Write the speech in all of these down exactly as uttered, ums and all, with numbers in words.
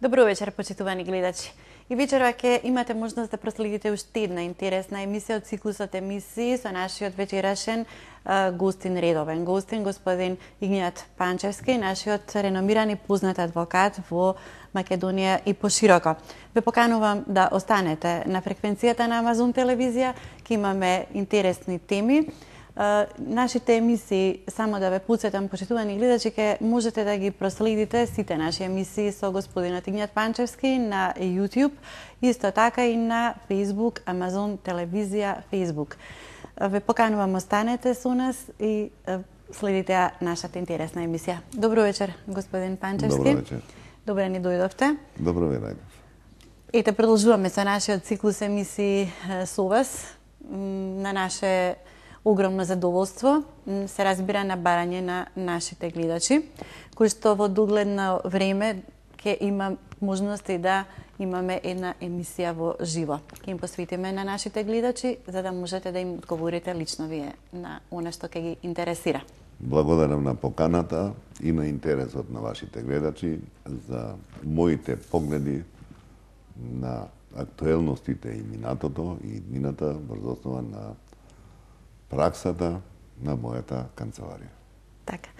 Добро вечер, почитувани гледачи. И вечерва ќе имате можност да проследите уште една интересна емисија од циклусот емисии со нашиот вечерашен а, гостин редовен. Гостин господин Игнијат Панчевски, нашиот реномиран и познат адвокат во Македонија и пошироко. Ве поканувам да останете на фреквенцијата на Амазон телевизија, ќе имаме интересни теми. Uh, нашите емисии, само да ве подсетам, почитувани гледачи, ке можете да ги проследите сите наши емисии со господинот Игнијат Панчевски на YouTube, исто така и на Facebook, Амазон телевизија, Facebook. Uh, ве поканувам, останете со нас и uh, следите нашата интересна емисија. Добро вечер, господин Панчевски. Добро вечер. Добре ни дојдовте. Добро ве најдов. Ете, продолжуваме со нашиот циклус емисии uh, со вас. На наше огромно задоволство се разбира на барање на нашите гледачи, кои што во догледно време ќе има можности да имаме една емисија во живо. Ќе им посветиме на нашите гледачи, за да можете да им одговорите лично вие на она што ќе ги интересира. Благодарам на поканата и на интересот на вашите гледачи за моите погледи на актуелностите и минатото и иднината врз основа на праксата на мојата канцеларија. Така.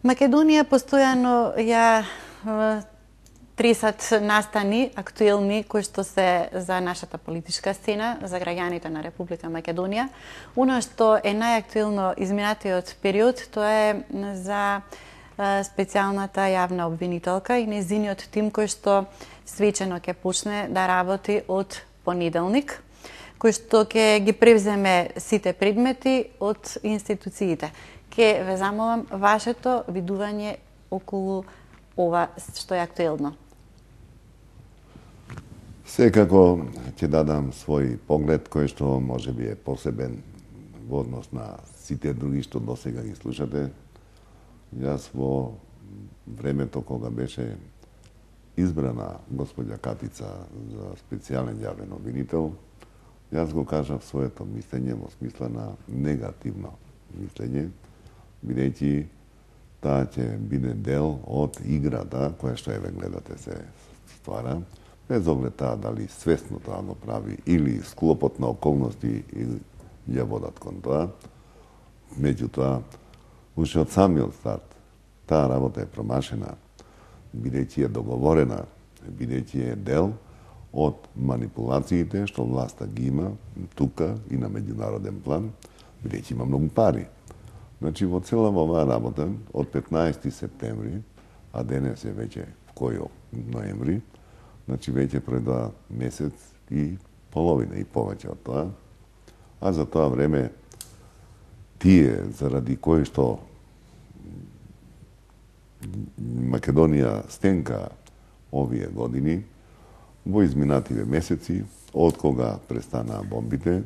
Македонија постојано ја тресат настани актуелни кои што се за нашата политичка сцена, за граѓаните на Република Македонија. Оно што е најактуелно изминатиот период, тоа е за специјалната јавна обвинителка и нејзиниот тим кој што свечено ќе почне да работи од понеделник, кој што ќе ги превземе сите предмети од институциите. Ке ве замолам вашето видување околу ова што е актуелно. Секако ќе дадам свој поглед кој што може би е посебен во однос на сите други што досега ги слушате. Јас во времето кога беше избрана господја Катица за специјален јавен обвинител, јас го кажав своето мислење во смисла на негативно мислење, бидејќи таа ќе биде дел од играта која што еве гледате се ствара, без оглед таа дали свесно тоа го прави или склопот на околности или ја водат кон тоа. Меѓутоа, уште од самиот старт, таа работа е промашена, бидејќи е договорена, бидејќи е дел од манипулациите што власта ги има тука и на меѓународен план, бидејќи има многу пари. Значи, во цела оваа работа, од петнаесети септември, а денес е веќе кој ноември, значи веќе пројдоа месец и половина и повеќе од тоа, а за тоа време тие заради кои што Македонија стенка овие години, во изминативе месеци, од кога престанаа бомбите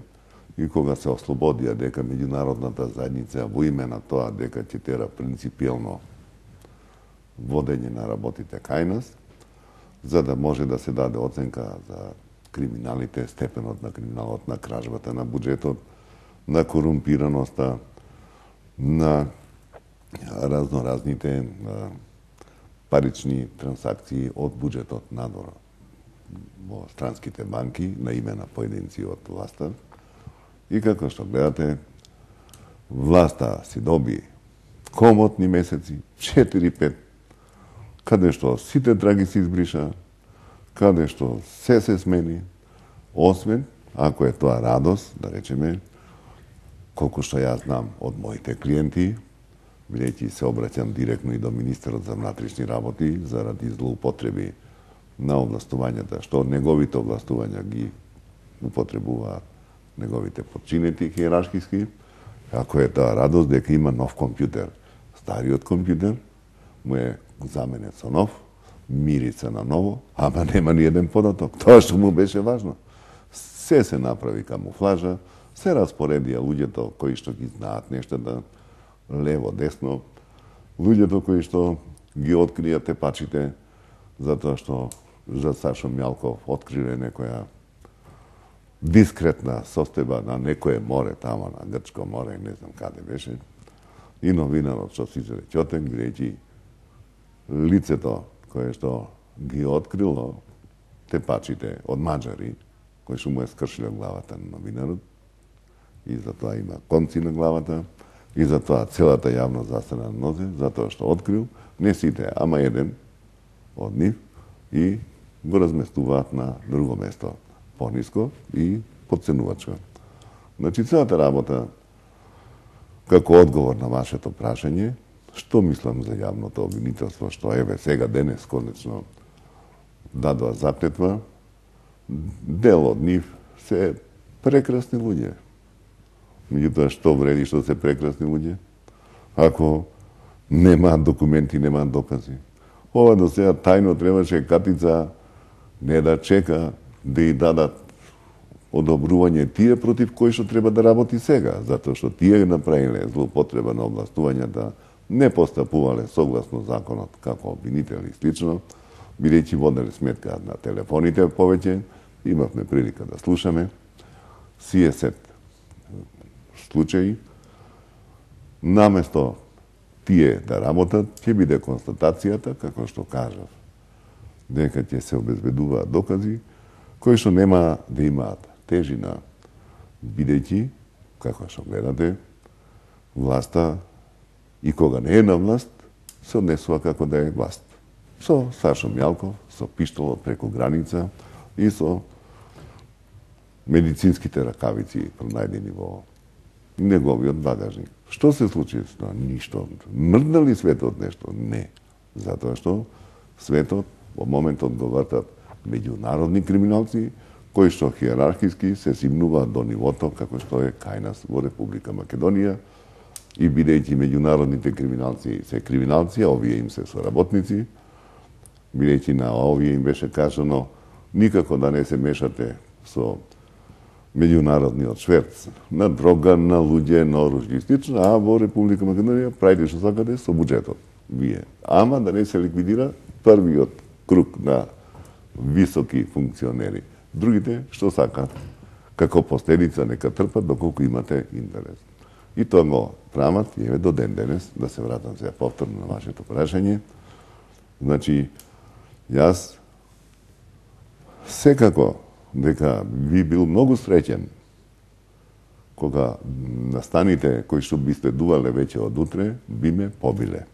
и кога се ослободија дека меѓународната заедница во име на тоа дека ќе тера принципиелно водење на работите кај нас, за да може да се даде оценка за криминалите, степенот на криминалот, на кражбата на буџетот, на корумпираноста, на разноразните парични трансакции од буџетот надвор во странските банки на име на поединци од власта. И како што гледате, власта си доби комотни месеци, четири-пет, каде што сите драги се избриша, каде што се се смени, освен, ако е тоа радост, да речеме, колку што јас знам од моите клиенти, бидејќи се обраќам директно и до министерот за внатрешни работи заради злоупотреби на овластувањата, што неговите овластувања ги употребуваат неговите подчинети хиерархиски, ако е таа радост дека има нов компјутер. Стариот компјутер му е заменет со нов, мирица на ново, ама нема ни еден податок. Тоа што му беше важно. Се се направи камуфлажа, се распоредија луѓето кои што ги знаат нештата, лево, десно, луѓето кои што ги открија тепачите, затоа што за Сашо Мјалков откриле некоја дискретна состојба на некое море, тама на Грчко море, не знам каде беше, и новинарот што Сизер Ќотек, бидејќи лицето кое што ги открило тепачите од маđари, кои што му е скршило главата на новинарот, и затоа има конци на главата, и затоа целата јавност застана на нозе, затоа што открил, не сите, ама еден од нив, и го разместуваат на друго место, пониско и подценувачко. Значи, целата работа, како одговор на вашето прашање, што мислам за јавното обвинителство, што еве сега денес конечно дадоа заклетва, дел од нив се прекрасни луѓе. Меѓутоа, што вреди што се прекрасни луѓе, ако немаат документи, немаат докази? Ова до сега тајно требаше Катица не да чека да и дадат одобрување тие против кои што треба да работи сега, затоа што тие направиле злоупотреба на областувањата, не постапувале согласно законот како обвинители и слично, бидејќи воделе сметка на телефоните повеќе, имавме прилика да слушаме сиесет случаи, наместо тие да работат, ќе биде констатацијата, како што кажав, дека ќе се обезбедуваат докази кои што нема да имаат тежина, бидејќи, како што гледате, власта и кога не е на власт, се однесува како да е власт. Со Сашо Мјалков, со пиштолот преку граница и со медицинските ракавици пронајдени во неговиот багажник. Што се случи? Ништо. Мрдна ли светот нешто? Не. Затоа што светот во моментот го вртат меѓународни криминалци, кои што хиерархиски се симнуваат до нивото како што е кај нас во Република Македонија, и бидејќи меѓународните криминалци се криминалци, а овие им се соработници, бидејќи на овие им беше кажано никако да не се мешате со меѓународниот шверц на дрога, на луѓе, на оружје и слично, а во Република Македонија правите што сакате со буџетот. Вие. Ама да не се ликвидира првиот круг на високи функционери. Другите што сакат, како последица нека трпат доколку имате интерес. И тоа го прават, и еве до ден денес, да се вратам сега повторно на вашето прашање. Значи, јас секако дека би бил многу среќен кога настаните кои што би следувале веќе од утре, би ме побиле.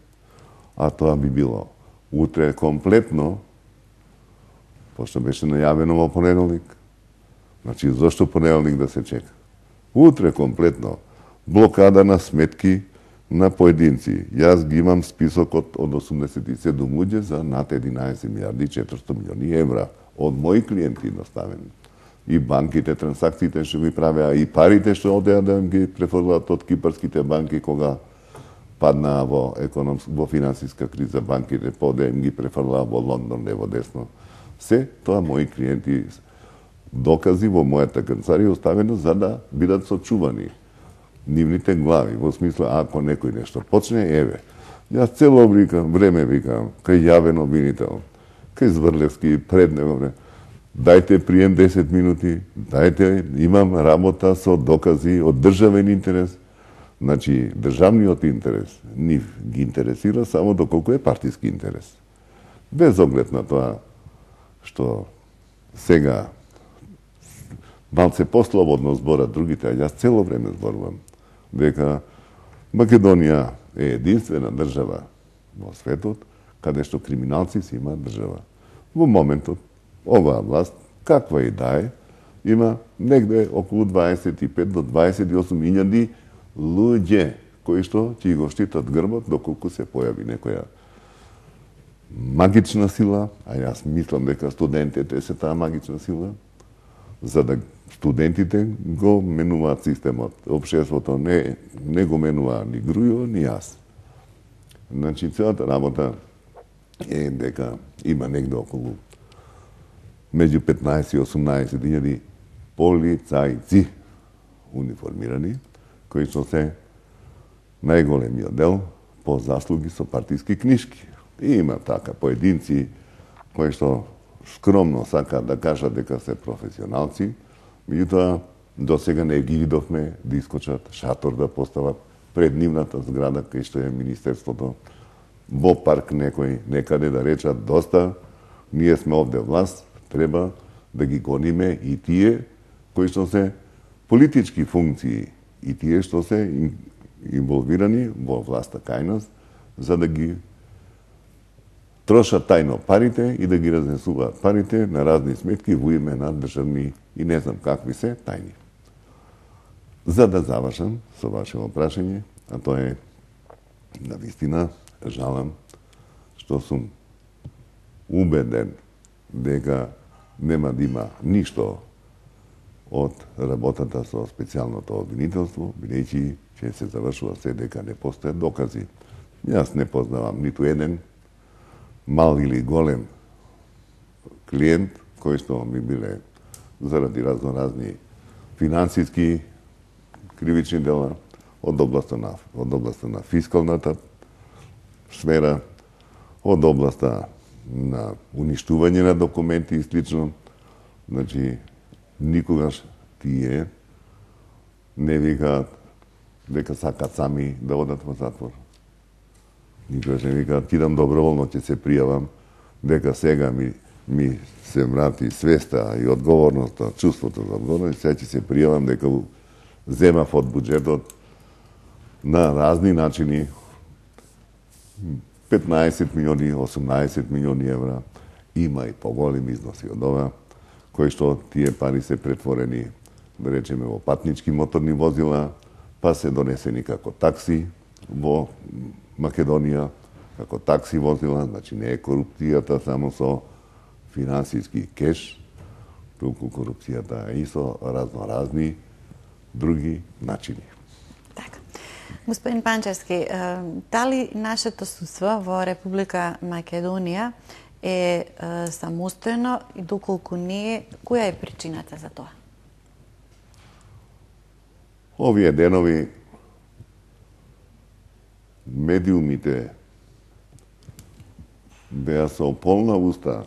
А тоа би било утре комплетно, пошто беше најавено во понеделник. Значи, зошто понеделник да се чека? Утре комплетно блокада на сметки на поединци. Јас ги имам списокот од осумдесет и седум луѓе за над единаесет милиарди и четиристотини милиони евра од мои клиенти доставени. И банките, трансакциите што ги правеа, и парите што одеа да ги префрлаат од кипарските банки кога паднаа во економска, во финансиска криза, банките поде им ги префрлаа во Лондон, лево десно. Се тоа мои клиенти докази во мојата канцеларија оставено за да бидат сочувани нивните глави, во смисла ако некој нешто почне, еве. Јас цело време викам кај јавен обвинител, кај Зврлевски, пред него време. Дајте прием десет минути, дајте, имам работа со докази од државен интерес. Значи, државниот интерес нив ги интересира само доколку е партиски интерес. Без оглед на тоа што сега малце послободно зборат другите, а јас цело време зборувам дека Македонија е единствена држава во светот каде што криминалци си имаат држава. Во моментот, оваа власт, каква и да е, има негде околу дваесет и пет до дваесет и осум илјади луѓе кои што ќе го штитат грбот доколку се појави некоја магична сила, а јас мислам дека студентите се таа магична сила, за да студентите го менуваат системот. Општеството не, не го менува ни Грујо, ни јас. Значи, целата работа е дека има негде околу меѓу петнаесет и осумнаесет илјади полицајци униформирани, кои што се најголемиот дел по заслуги со партиски книшки. И има така поединци кои што скромно сакаат да кажат дека се професионалци, меѓутоа до сега не ги видовме да искочат шатор да постават пред нивната зграда кај што е Министерството, во парк некој некаде да речат доста, Ние сме овде власт, треба да ги гониме и тие кои што се политички функции и тие што се инволвирани во власта кај нас, за да ги трошат тајно парите и да ги разнесуваат парите на разни сметки во име на државни и не знам какви се тајни. За да завршам со вашето прашање, а тоа е на вистина жалам што сум убеден дека нема да има ништо од работата со специјалното обвинителство, бидејќи ќе се завршува се дека не постојат докази. Јас не познавам ниту еден мал или голем клиент кој што ми биле заради разноразни финансиски кривични дела од областа на од областа на фискалната сфера, од областа на уништување на документи и слично. Значи, никогаш тие не викаат дека сакат сами да одат во затвор. Никогаш не викаат, кидам доброволно, ќе се пријавам, дека сега ми, ми се врати свеста и одговорноста, чувството за одговорност, сега ќе се пријавам дека земав од буџетот на разни начини петнаесет милиони, осумнаесет милиони евра, има и поголеми износи од ова, кои што тие пари се претворени, да речеме, во патнички моторни возила, па се донесени како такси во Македонија, како такси возила, значи не е корупцијата само со финансиски кеш, туку корупцијата е и со разноразни други начини. Така. Господин Панчевски, дали нашето судство во Република Македонија е самостојно и доколку не е, која е причината за тоа? Овие денови медиумите беа со полна уста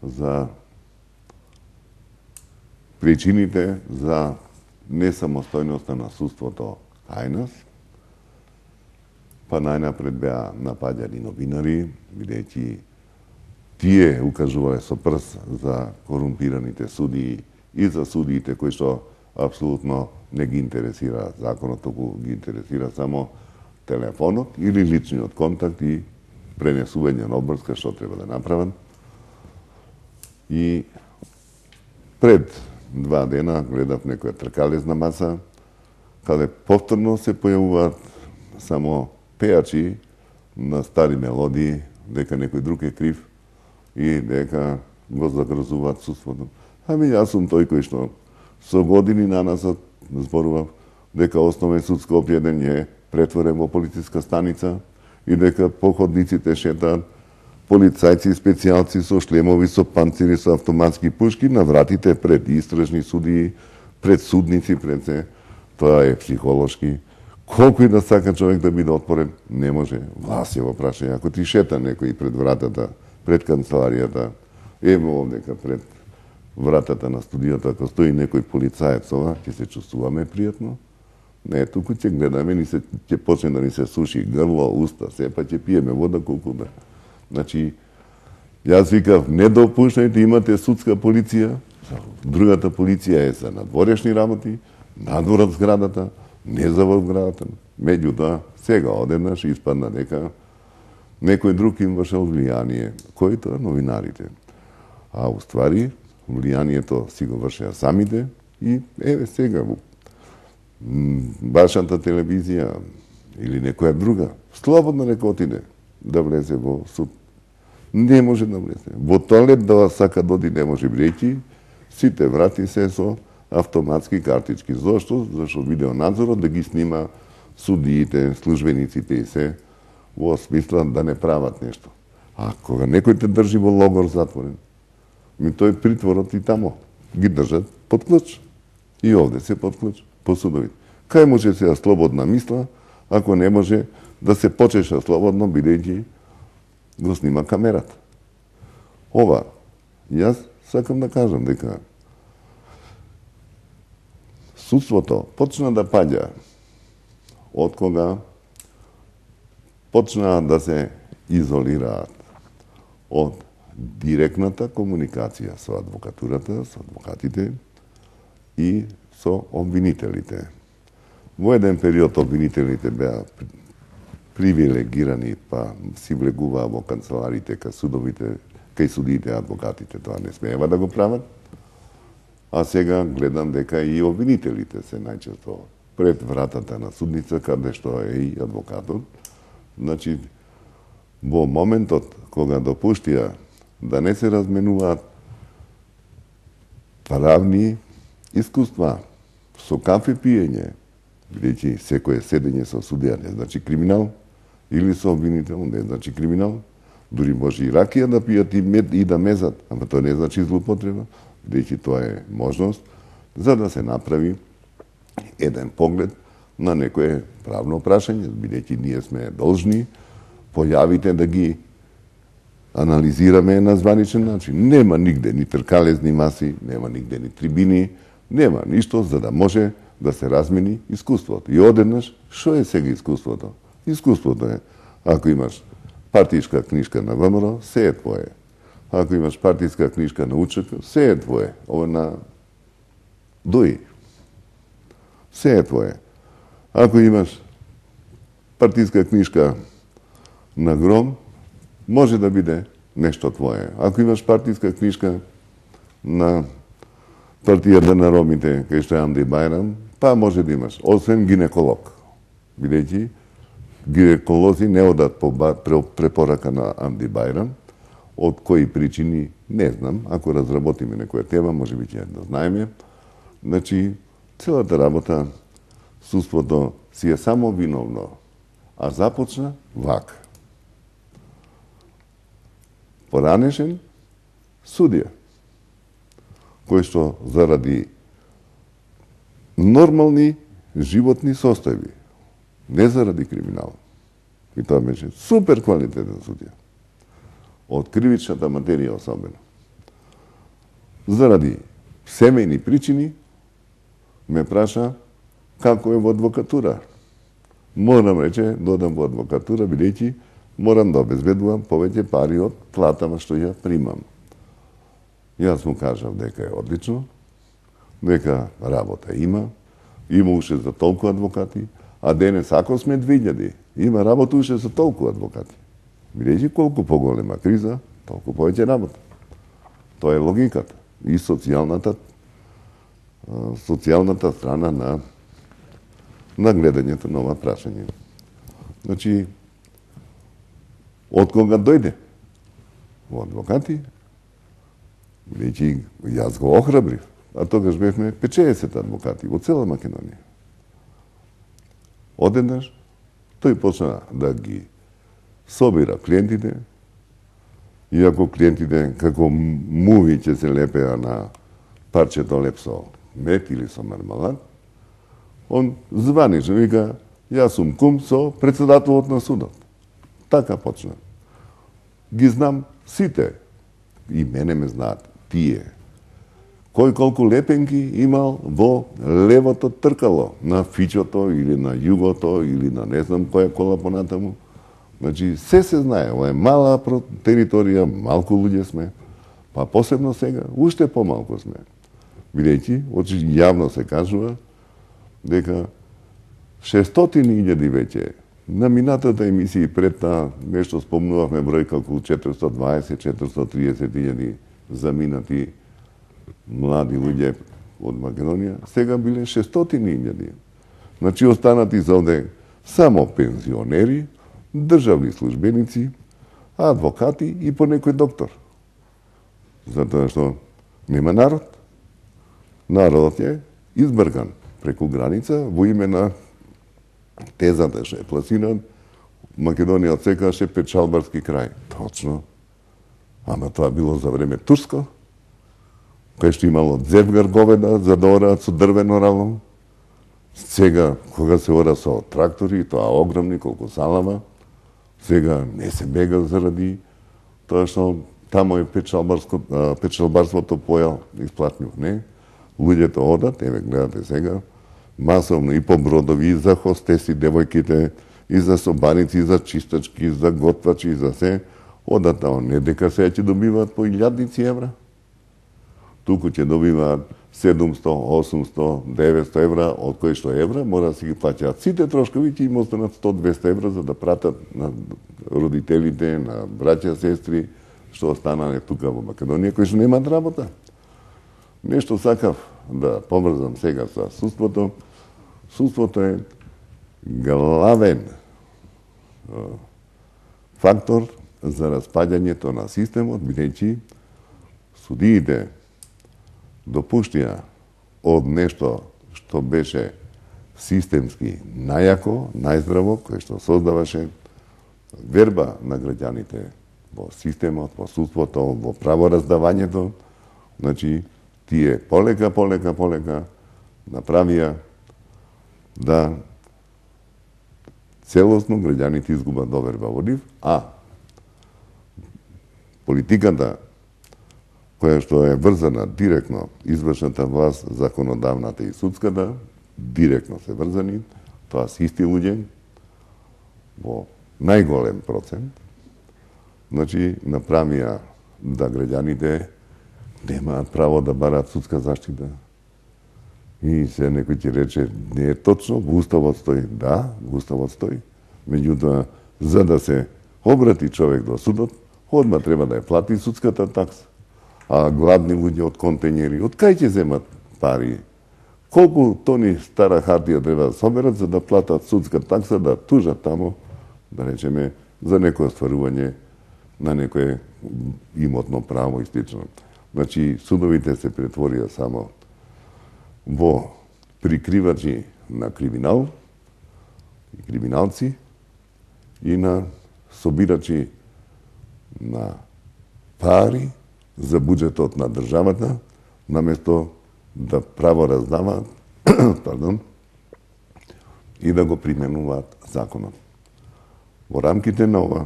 за причините за несамостојноста на судството кај нас, па најнапред беа напаѓани новинари, бидејќи тие укажувале со прст за корумпираните судии и за судиите кои што апсолутно не ги интересира законот, туку ги интересира само телефонот или личниот контакт и пренесување на обврска што треба да направат. И пред два дена гледав некоја тркалезна маса, каде повторно се појавуваат само пејачи на стари мелодии, дека некој друг е крив и дека го загрозуваат судството. Ами јас сум тој кој што со години наназад зборував дека Основен суд Скопје ден е претворен во полициска станица и дека по ходниците шетаат полицајци и специјалци со шлемови, со панцири, со автоматски пушки на вратите пред истражни судии, пред судници, пред се. Тоа е психолошки. Колку и да сака човек да биде отпорен, не може. Власт е во прашање. Ако ти шета некој пред вратата, пред канцеларијата, ево овдека пред вратата на студијата, ако стои некој полицаец, ова, ќе се чувствуваме пријатно. Не, туку ќе гледаме, ни се, ќе почне да ни се суши грло, уста, се, па ќе пиеме вода колку да. Значи, јас викав, не допуштајте, имате судска полиција, другата полиција е за надворешни работи, надвор од зградата, не за во зградата. Меѓутоа, сега одеднаш испадна дека некој друг им вршел влијание, кој тоа новинарите. А уствари, влијанието си го вршеа самите и еве сега вашата телевизија или некоја друга, слободно нека отиде да влезе во суд. Не може да влезе. Во тоалет да сака доди не може, бидејќи сите врати се со автоматски картички. Зошто? Зашто видеонадзорот да ги снима судиите, службениците и се во смисла да не прават нешто. А кога некој те држи во логор затворен, ми тој притворот и тамо ги држат под клуч. И овде се под клуч, по судовите. Кај може се слободна мисла, ако не може да се почеша слободно, бидејќи го снима камерата. Ова, јас сакам да кажам дека судството почна да паѓа од кога почна да се изолираат од директната комуникација со адвокатурата, со адвокатите и со обвинителите. Во еден период обвинителите беа привилегирани, па си влегуваа во канцеларите, кај судовите, кај судиите, адвокатите, тоа не смеева да го прават. А сега гледам дека и обвинителите се најчесто пред вратата на судница, каде што е и адвокатот. Значи, во моментот кога допуштија да не се разменуваат правни искуства со кафе пиење, бидејќи секое седење со судија не значи криминал, или со обвинител не значи криминал, дури може и ракија да пијат и мед и да мезат, ама тоа не значи злоупотреба, бидејќи тоа е можност за да се направи еден поглед на некое правно прашање, бидејќи ние сме должни појавите да ги анализираме на званичен начин. Нема нигде ни тркалезни маси, нема нигде ни трибини, нема ништо за да може да се размени искуството. И одеднаш, што е сега искуството? Искуството е, ако имаш партијска книжка на ВМРО, се е твое. Ако имаш партијска книжка на УЧК, се е твое. Ова на ДОИ. Се е твое. Ако имаш партијска книжка на ГРОМ, може да биде нешто твое. Ако имаш партијска книжка на партијата на ромите, кај што е Амди Бајрам, па може да имаш, освен гинеколог. Бидејќи гинеколози не одат по препорака на Амди Бајрам, од кои причини не знам, ако разработиме некоја тема, може би ќе да знаеме. Значи, целата работа, судството си е само виновно, а започна вака. Поранешен судија, кој што заради нормални животни состојби, не заради криминал, и тоа беше супер квалитетен судија, од кривичната материја особено, заради семејни причини, ме праша како е во адвокатура. Морам рече, додам во адвокатура, бидејќи морам да обезбедувам повеќе пари од платава што ја примам. Јас му кажав дека е одлично, дека работа има, има уште за толку адвокати, а денес ако сме две илјади, има работа уште за толку адвокати. Бидејќи колку поголема криза, толку повеќе работа. Тоа е логиката и социјалната социјалната страна на на гледањето на ова прашање. Значи, од кога дојде во адвокати, бидејќи јас го охрабрив, а тогаш бевме петчеесет адвокати во цела Македонија. Одеднаш, тој почна да ги собира клиентите, иако клиентите како муви ќе се лепеа на парчето леп со мед или со мармалад, он званично вика, јас сум кум со председателот на судот. Така почна. Ги знам сите, и мене ме знаат, тие. Кој колку лепенки имал во левото тркало, на Фичото или на Југото или на не знам која кола понатаму. Значи, се се знае, ова е мала територија, малку луѓе сме, па посебно сега, уште помалку сме. Бидејќи, очи јавно се кажува, дека шестстотини илјади веќе на минатата емисија пред таа нешто спомнувавме бројка околу четиристотини и дваесет до четиристотини и триесет илјади заминати млади луѓе од Македонија, сега биле шестстотини илјади. Значи останати за овде само пензионери, државни службеници, адвокати и по некој доктор. Затоа што нема народ. Народот е избрган преку граница во име на тезата што е пласиран, Македонија од секогаш е печалбарски крај. Точно. Ама тоа било за време турско, кај што имало зевгар говеда за да ораат со дрвено рало. Сега, кога се ора со трактори, тоа огромни, колку салама, сега не се бега заради тоа што тамо е печалбарството појал исплатнив, не? Луѓето одат, еве гледате сега, масовно и по бродови, и за хостеси, девојките, и за собаници, и за чистачки, и за готвачи, и за се, одатао не дека сега ќе добиваат по илјадници евра, туку ќе добиваат седумсто, осумсто, деветсто евра, од кои што евра мора да си ги плаќаат сите трошкови, ќе им останат сто до двесте евра за да пратат на родителите, на браќа, сестри, што останале тука во Македонија, кои што немаат работа. Нешто сакав да поврзам сега со судството. Судството е главен фактор за распаѓањето на системот, бидејќи судиите допуштија од нешто што беше системски најако, најздраво, кое што создаваше верба на граѓаните во системот, во судството, во правораздавањето, значи тие полека, полека, полека направија да целосно граѓаните изгубат доверба во нив, а политиката која што е врзана директно извршната власт, законодавната и судската, директно се врзани, тоа се исти луѓе во најголем процент, значи направија да граѓаните немаат право да бараат судска заштита. И се некој ќе рече, не е точно, во Уставот стои. Да, во Уставот стои. Меѓутоа, за да се обрати човек до судот, одма треба да ја плати судската такса. А гладни луѓе од контењери, од кај ќе земат пари? Колку тони стара хартија треба да соберат за да платат судска такса, да тужат тамо, да речеме, за некој остварување на некое имотно право и слично. Значи, судовите се претворија само во прикривачи на криминал и криминалци и на собирачи на пари за буџетот на државата, наместо да право раздаваат пардон, и да го применуваат законот. Во рамките на ова,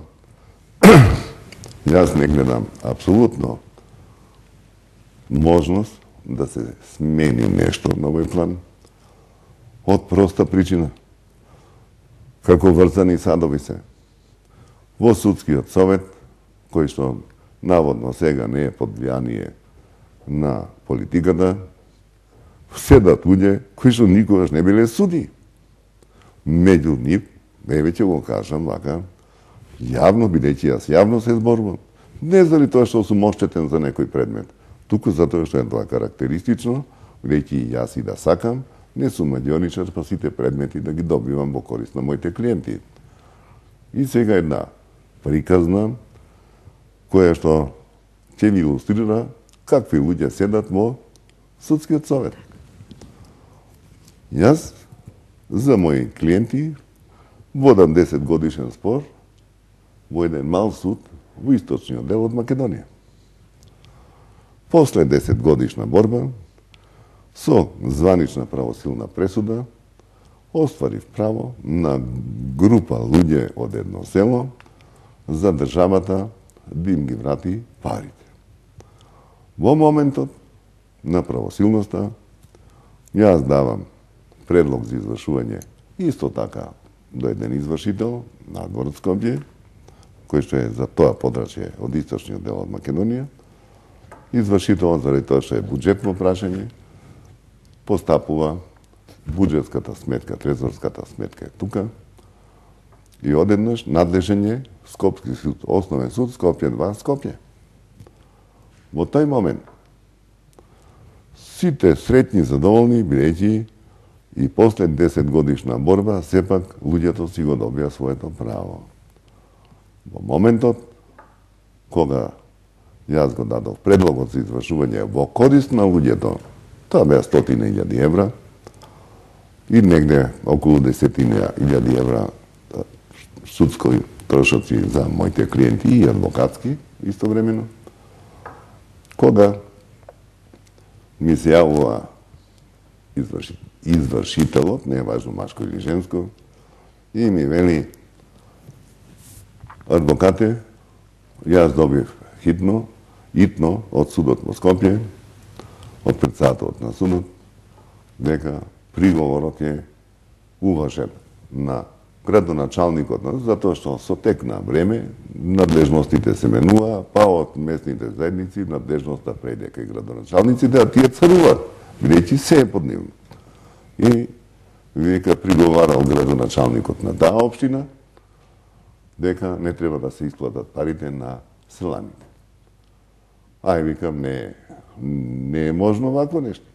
јас не гледам апсолутно можност да се смени нешто на овој план од проста причина. Како врзани садови се. Во судскиот совет, кој што наводно сега не е под влијание на политиката, седат луѓе кои што никогаш не биле суди. Меѓу нив, највеќе го кажам вака, јавно, бидејќи јас јавно се зборувам, не заради тоа што сум оштетен за некој предмет, туку затоа што е тоа карактеристично, бидејќи јас и да сакам, не сум маѓионичар, па сите предмети да ги добивам во корист на моите клиенти. И сега една приказна, која што ќе ви илустрира какви луѓе седат во судскиот совет. Јас за мои клиенти водам десет годишен спор во еден мал суд во источниот дел од Македонија. После десет годишна борба, со званична правосилна пресуда, остварив право на група луѓе од едно село за државата да им ги врати парите. Во моментот на правосилноста, јас давам предлог за извршување исто така до еден извршител на город Скопје, кој што е за тоа подрачје од источниот дел од Македонија. Извршителот, заради тоа што е буџетно прашање, постапува буџетската сметка, трезорската сметка е тука, и одеднаш надлежен е Скопски суд, основен суд, Скопје два, Скопје. Во тој момент, сите сретни задоволни, бидејќи и после десет годишна борба, сепак луѓето си го добија своето право. Во моментот, кога јас го дадов предлогот за извршување во корист на луѓето, тоа беа стотина илјади евра, и негде околу десетина илјади евра судски трошоци за моите клиенти и адвокатски истовремено. Кога ми се јавува изврши, извршителот, не е важно машко или женско, и ми вели: адвокате, јас добив хитно, итно од судот во Скопје, од председателот на судот, дека приговорот е уважен на градоначалникот, затоа што со тек на време надлежностите се менува, па од местните заедници надлежноста прејде кај градоначалниците, а тие царуваат, бидејќи се е под нив. И вика приговарал градоначалникот на таа општина дека не треба да се исплатат парите на селаните. Ај, викам, не, не е можно вакво нешто.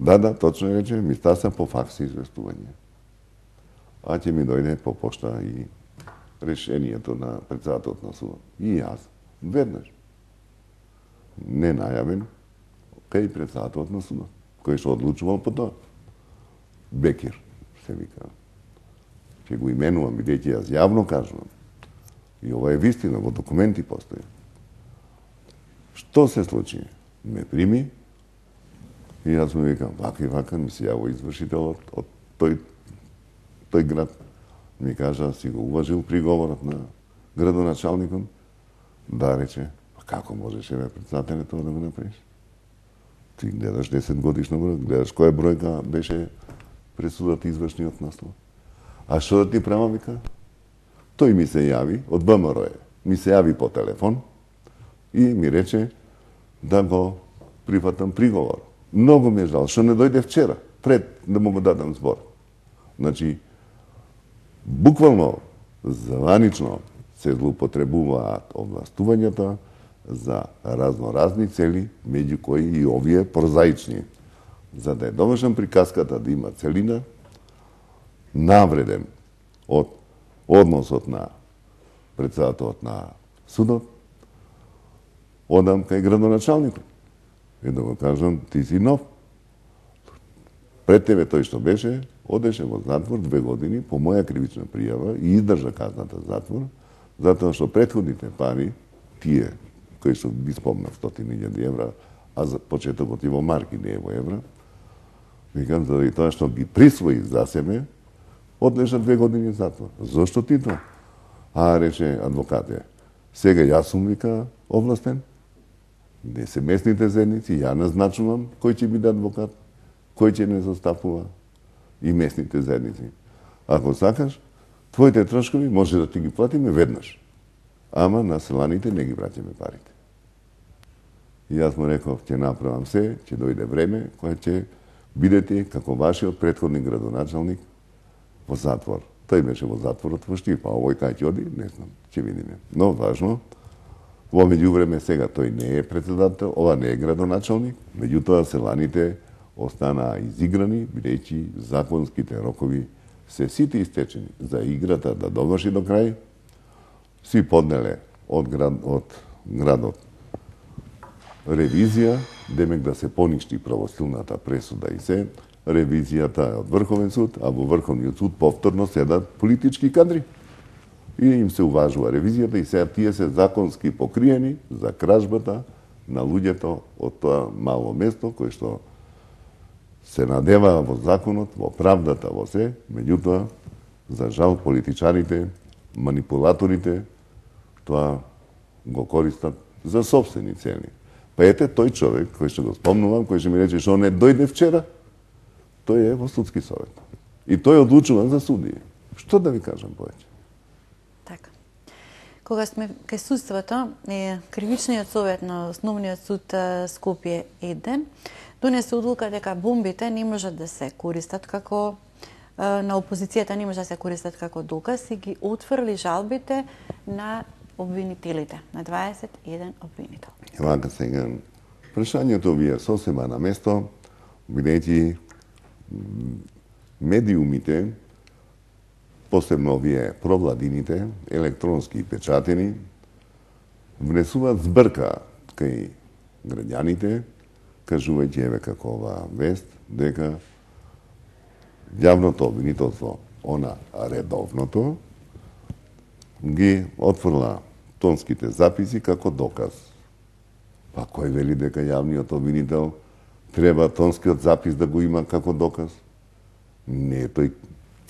Да, да, точно рече, ми стаса по факс известување. А ќе ми дојде по пошта и решението на председателот на судот. И јас, веднаш, не најавен, кај председателот на судот, кој што одлучувал по тоа. Бекир, се вика. Ќе го именувам, бидејќи јас јавно кажувам. И ова е вистина, во документи постои. Што се случи? Ме прими и јас му викам, вака и вака, ми се јаво извршителот од тој, тој град. Ми кажа, си го уважил приговорот на градоначалникот. Да, рече, па како можеше бе председателе тоа да го направиш? Ти гледаш десет годишна број, гледаш која бројка беше пресудата извршниот наслов. А што да ти правам, вика? Тој ми се јави, од ВМРО е, ми се јави по телефон и ми рече да го прифатам приговор. Многу ми е жал, што не дојде вчера, пред да му го дадам збор. Значи, буквално, заванично се злоупотребуваат овластувањата за разноразни цели, меѓу кои и овие прозаични. За да е довршен приказката да има целина, навреден од односот на председателот на судот, одам кај градоначалникот. И да го кажам, ти си нов. Пред тебе тој што беше, одеше во затвор две години по моја кривична пријава и издржа казната затвор, затоа што претходните пари, тие кои што ги спомнав стотини илјади евра, а за почетокот и во марки, не е во евра, викам, заради тоа што ги присвои за себе, одлежа две години затвор. Зошто ти тоа? А, рече адвокате, сега јас сум, вика, овластен, не се местните заедници, ја назначувам кој ќе биде адвокат, кој ќе не застапува и местните заедници. Ако сакаш, твоите трошкови може да ти ги платиме веднаш, ама на селаните не ги враќаме парите. И јас му реков, ќе направам се, ќе дојде време, кое ќе бидете како вашиот претходник градоначалник во затвор. Тој беше во затворот во Штип, а овој кај ќе оди, не знам, ќе видиме. Но важно, во меѓувреме сега тој не е председател, ова не е градоначалник, меѓутоа селаните останаа изиграни, бидејќи законските рокови се сите истечени за играта да доврши до крај, си поднеле од, град, од градот ревизија, демек да се поништи правосилната пресуда и се, ревизијата е од Врховен суд, а во Врховниот суд повторно седат политички кадри. И им се уважува ревизијата и сега тие се законски покриени за кражбата на луѓето од тоа мало место, кој што се надева во законот, во правдата, во се, меѓутоа, за жал, политичарите, манипулаторите, тоа го користат за собствени цели. Па ете, тој човек, кој што го спомнувам, кој што ми рече што не дојде вчера, тој е во судски совет. И тој одлучува за судија. Што да ви кажам повеќе? Така. Кога сме кај судството, е Кривичниот совет на Основниот суд Скопје еден донесе одлука дека бомбите не можат да се користат како на опозицијата не може да се користат како доказ и ги отфрли жалбите на обвинителите, на дваесет и еден обвинител. Вака сега, прашањето ви е сосема на место, бидејќи медиумите, посебно овие провладините, електронски и печатени, внесуваат збрка кај граѓаните, кажувајќи еве како ова вест, дека јавното обвинителство, она редовното, ги отфрла тонските записи како доказ. Па кој вели дека јавниот обвинител треба тонскиот запис да го има како доказ? Не е тој,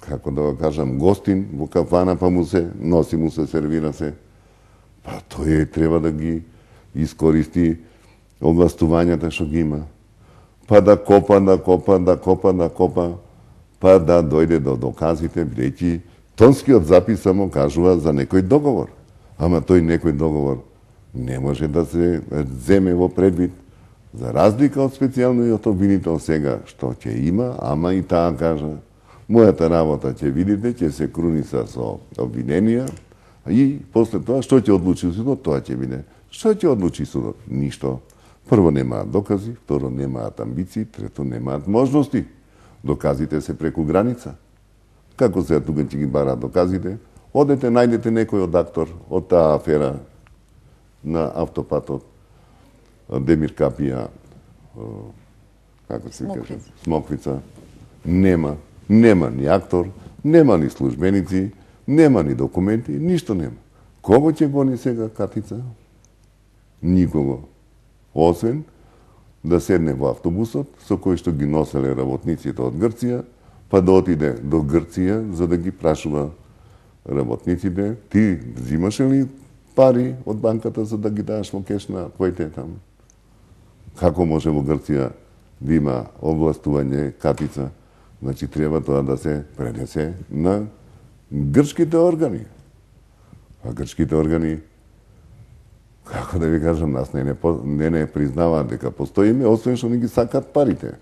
како да го кажам, гостин во кафана, па му се носи, му се сервира се. Па тој треба да ги искористи овластувањата што ги има. Па да копа, да копа, да копа, да копа, па да дојде до доказите, бидејќи Тонскиот запис само кажува за некој договор. Ама тој некој договор не може да се земе во предвид. За разлика од специјалниот обвинител сега, што ќе има, ама и таа кажа, мојата работа ќе видите, ќе се круниса со обвиненија, и после тоа, што ќе одлучи судот, тоа ќе биде. Што ќе одлучи судот? Ништо. Прво, немаат докази, второ, немаат амбиции, трето, немаат можности. Доказите се преку граница. Како се тука ќе ги бараат доказите? Одете, најдете некој од актор од таа афера на автопатот, Демир Капија, како се каже, Смоквица. Нема. Нема ни актор, нема ни службеници, нема ни документи, ништо нема. Кого ќе гони сега Катица? Никого. Освен да седне во автобусот со кој што ги носеле работниците од Грција, па да отиде до Грција за да ги прашува работниците, ти взимаше ли пари од банката за да ги дадеш во кеш на твоите таму? Како може во Грција да има овластување Катица? Значи треба тоа да се пренесе на грчките органи. А грчките органи, како да ви кажам, нас не не, не, не признаваат дека постоиме, освен што не ги сакат парите.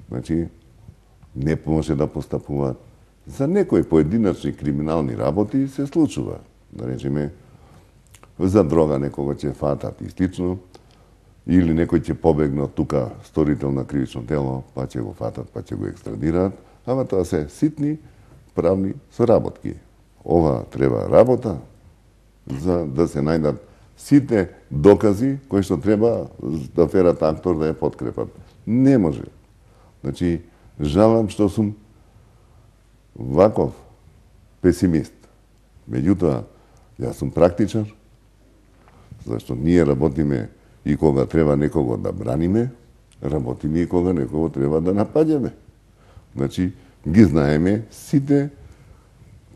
Значи, не може да постапуваат. За некои поединачни криминални работи се случува. Да речеме, за дрога некого ќе фатат и слично, или некој ќе побегне од тука сторител на кривично дело, па ќе го фатат, па ќе го екстрадираат, ама тоа се ситни правни соработки. Ова треба работа за да се најдат сите докази кои што треба да аферата актор да ја подкрепат. Не може. Значи, жалам што сум ваков песимист. Меѓутоа, јас сум практичар, зашто ние работиме и кога треба некого да браниме, работиме и кога некого треба да напаѓаме. Значи, ги знаеме сите,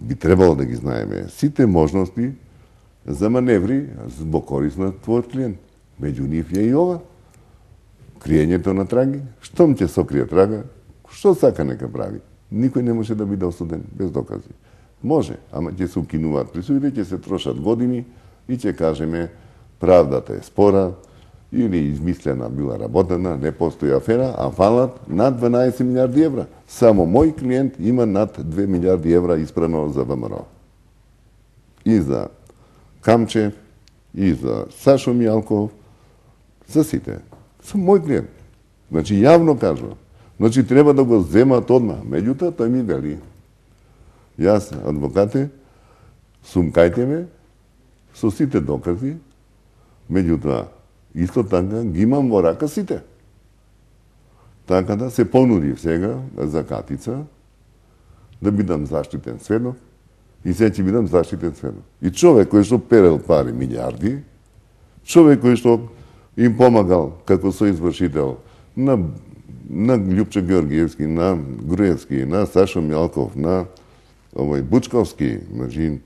би требало да ги знаеме сите можности за маневри во корист на твојот клиент. Меѓу нив е и ова. Криењето на траги. Штом ќе сокрие трага, што сака нека прави. Никој не може да биде осуден без докази. Може, ама ќе се укинуваат присудите, ќе се трошат години и ќе кажеме правдата е спора или измислена била работена, не постои афера, а фалат над дванаесет милиарди евра. Само мој клиент има над две милиарди евра испрано за ВМРО. И за Камчев, и за Сашо Мијалков, за сите. Сум мој клиент. Значи, јавно кажувам. Значи, треба да го земат одма. Меѓутоа, тој ми вели. Јас, адвокате, сум кај тебе, со сите докази, меѓутоа, исто така ги имам во рака сите. Така да се понудив сега за Катица, да бидам заштитен сведок, и сега ќе бидам заштитен сведок. И човек кој што перел пари милиарди, човек кој што им помагал како соизвршител на на Љупчо Георгиевски, на Груевски, на Сашо Мјалков, на овој Бучковски, значи,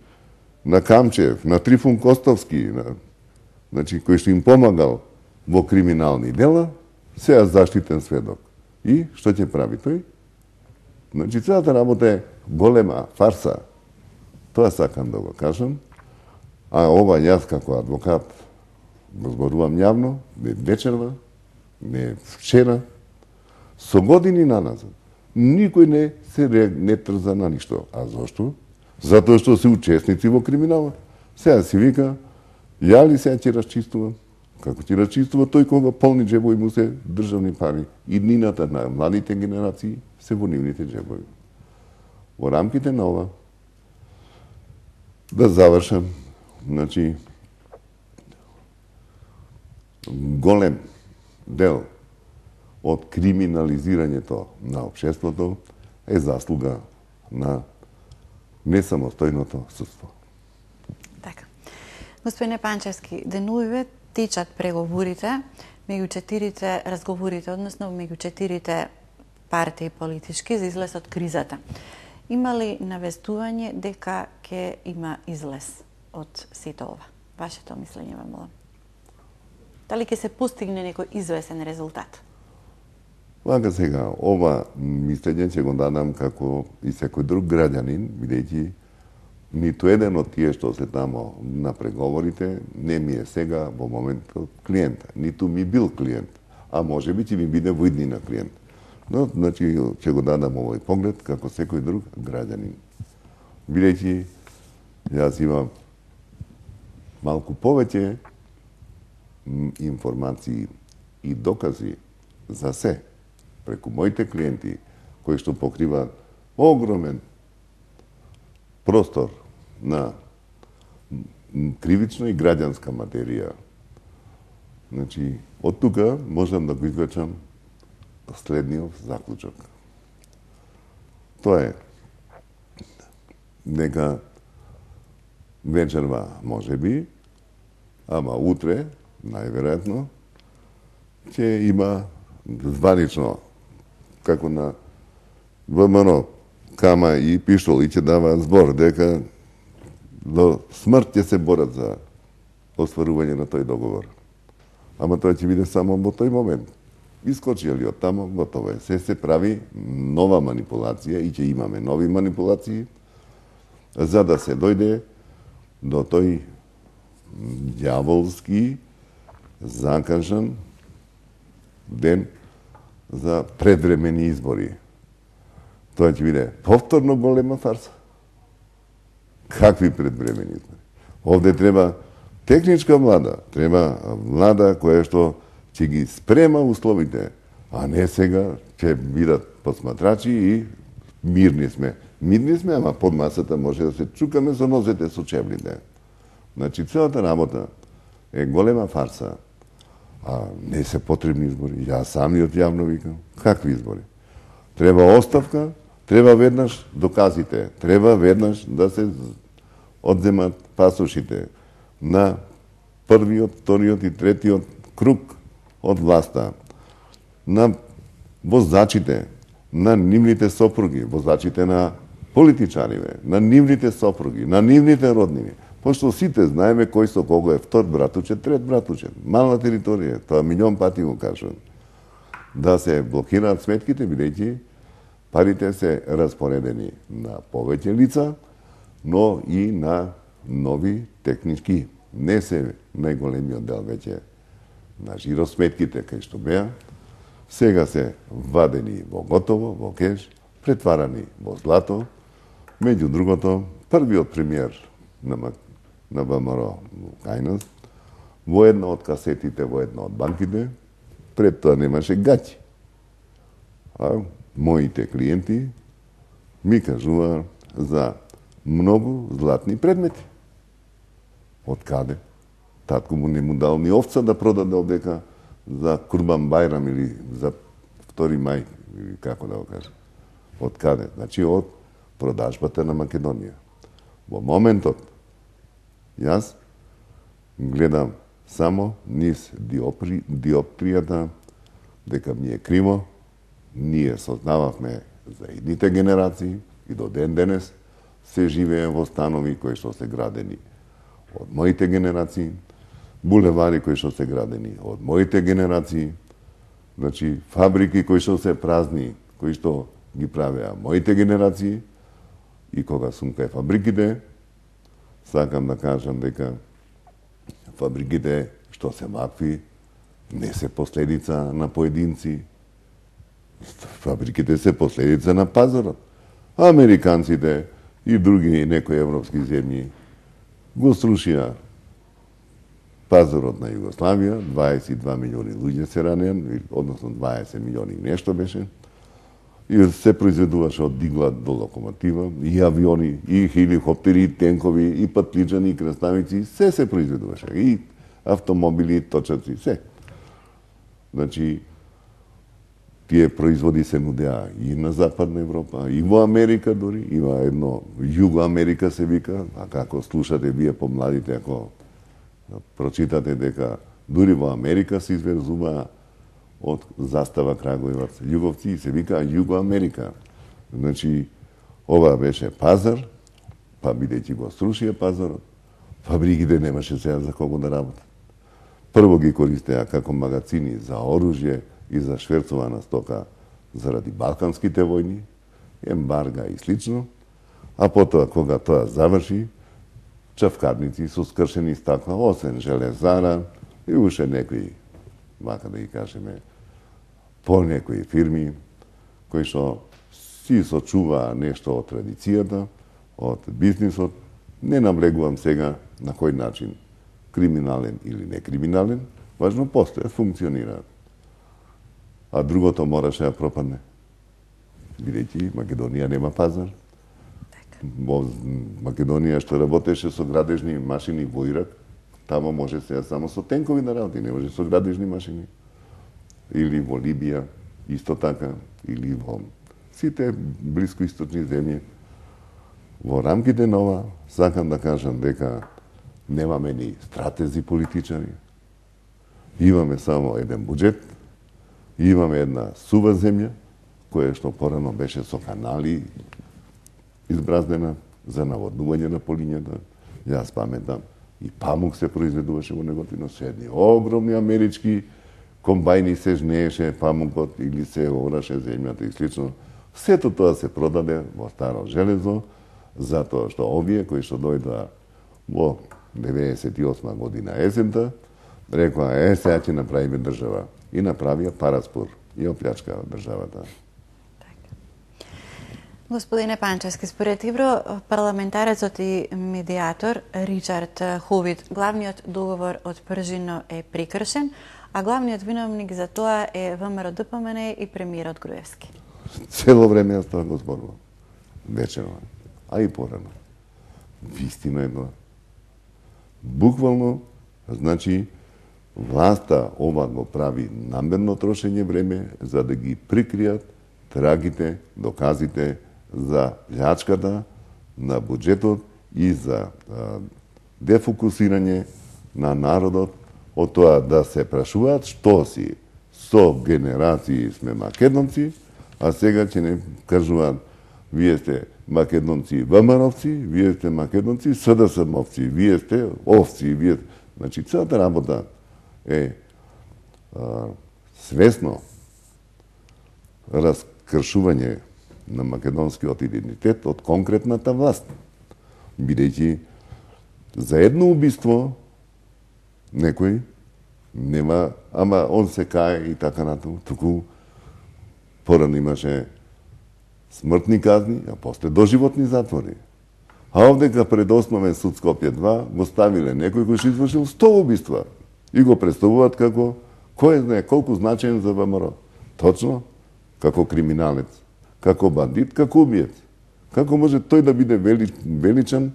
на Камчев, на Трифун Костовски, на, значи, кој што им помагал во криминални дела, сега заштитен сведок. И што ќе прави тој? Значи, целата работа е голема фарса. Тоа сакам да го кажам. А ова јас како адвокат го зборувам јавно, не вечерва, не вчера, со години наназад. Никој не се не трза на ништо. А зошто? Затоа што се учесници во криминала. Сега си вика, ја ли сега ќе расчистувам? Како ќе расчистува тој кога полни джебови му се државни пари? И днината на младите генерации се во нивните джебови. Во рамките на ова, да завршам, значи, голем дел од криминализирањето на општеството е заслуга на несамостојното судство. Така. Господине Панчевски, денувиве течат преговорите меѓу четирите разговорите, односно меѓу четирите партии политички за излез од кризата. Има ли навестување дека ќе има излез од сите ова? Вашето мислење, ме молам. Дали ќе се постигне некој извесен резултат? Вака сега, ова мислење ќе го дадам како и секој друг граѓанин, бидејќи ниту еден од тие што се тамо на преговорите не ми е сега во моментот клиент, ниту ми бил клиент, а може би ќе ми биде во иднина клиент. Но, значи, ќе го дадам овој поглед како секој друг граѓанин. Бидејќи јас имам малку повеќе информации и докази за се преку моите клиенти кои што покриваат огромен простор на кривична и граѓанска материја. Значи, од тука можам да го извлечам следниот заклучок. Тоа е дека вечерва може би, ама утре, најверојатно, ќе има званично, како на ВМРО, Кама и Пиштол, и ќе дава збор дека до смрт ќе се борат за остварување на тој договор. Ама тоа ќе биде само во тој момент. Искочија ли од тамо, готово е. Се се прави нова манипулација и ќе имаме нови манипулации, за да се дојде до тој ѓаволски закажан ден за предвремени избори. Тоа ќе биде повторно голема фарса. Какви предвремени избори? Овде треба техничка влада, треба влада која што ќе ги спрема условите, а не сега ќе бидат посматрачи и мирни сме. Мирни сме, ама под масата може да се чукаме со нозете со чевлите. Значи, целата работа е голема фарса, а не се потребни избори. Јас самиот јавно викам, какви избори? Треба оставка, треба веднаш доказите, треба веднаш да се одземат пасошите на првиот, вториот и третиот круг од власта, на возачите, на нивните сопруги, возачите на политичариве, на нивните сопруги, на нивните роднини. Пошто сите знаеме кој со кого е втор братучет, трет братучет. Мална територија, тоа милион пати го кажам. Да се блокираат сметките, бидејќи парите се распоредени на повеќе лица, но и на нови технички. Не се најголемиот дел веќе на жиросметките кај што беа, сега се вадени во готово, во кеш, претварани во злато. Меѓу другото, првиот премиер на, на ВМРО кај нас, во една од касетите, во една од банките, пред тоа немаше гаќи. А моите клиенти ми кажува за многу златни предмети. Од каде? Татко му не му дал ни овца да продаде одека за Курбан Бајрам или за втори мај, или како да го кажам. Од каде? Значи од продажбата на Македонија. Во моментот, јас гледам само низ диопри, диоптријата дека ми е криво, ние сознававме за идните генерации и до ден денес се живее во станови кои што се градени од моите генерации, булевари кои што се градени од моите генерации, значи фабрики кои што се празни, кои што ги правеа моите генерации, и кога сум кај фабриките, сакам да кажам дека фабриките што се вакви не се последица на поединци, фабриките се последица на пазарот. Американците и други некои европски земји го срушија пазарот на Југославија, дваесет и два милиони луѓе се ранеа, односно дваесет милиони нешто беше, и се произведуваше од дигла до локомотива, и авиони, и хеликоптери, и тенкови, и патличани, и крставици, се се произведуваше, и автомобили, и точаци, се. Значи, тие производи се нудеа и на Западна Европа, и во Америка дори, има едно Југо Америка се вика, а како слушате вие помладите, ако прочитате дека дури во Америка се извезува од застава Крагуевац Југовци и се вика Југо Америка. Значи, ова беше пазар, па бидејќи го срушија пазарот, фабриките немаше сега за кого да работат. Прво ги користеа како магазини за оружје и за шверцована стока заради балканските војни, ембарга и слично, а потоа кога тоа заврши, чавкарници со скршени стакла, освен железара и уште некои, вака да ги кажеме, по некои фирми, кои што си сочуваа нешто од традицијата, од бизнисот. Не наблегувам сега на кој начин, криминален или некриминален, важно постојат, функционираат. А другото мораше да пропадне. Бидејќи Македонија нема пазар. Во Македонија што работеше со градежни машини во Ирак, тамо може сега само со тенкови да работи, не може со градежни машини. Или во Либија, исто така, или во сите блискоисточни земји. Во рамките на ова, сакам да кажам дека немаме ни стратези политичари, имаме само еден буџет, имаме една сува земја, која што порано беше со канали избраздена за наводнување на полињата. Јас паметам, и памук се произведуваше во неготино, со едни огромни амерички комбајни се жнееше памукот или се ораше земјата и слично. Сето тоа се продаде во старо железо, затоа што овие кои што дојдоа во деветдесет и осма година есента, рекоа, е, сега ќе направиме држава. И направија параспор и оплячкаа државата. Господине Панчевски, според европарламентарецот и медијатор Ричард Ховит, главниот договор од Пржино е прекршен, а главниот виновник за тоа е ВМРО Д П М Н и премиерот Груевски. Цело време јас тоа го зборувам. Вечерно, а и порано. Вистина е тоа. Буквално, значи, власта ова го прави намерно трошење време за да ги прикријат трагите, доказите за плячката на буџетот и за а, дефокусирање на народот од тоа да се прашуваат што си со генерации сме македонци, а сега ќе не кажуваат вие сте македонци ВМРО-овци, вие сте македонци С Д С М-овци, вие сте овци, вие... Значи, целата работа е а, свесно раскршување на македонскиот идентитет од конкретната власт. Бидејќи за едно убиство некој нема, ама он се кае и така натаму, туку порано имаше смртни казни, а после доживотни затвори. А овдека пред Основен суд Скопје два го ставиле некој кој што извршил сто убиства и го представуваат како кој знае колку значаен за ВМРО. Точно, како криминалец, како бандит, како убиец. Како може тој да биде вели, величан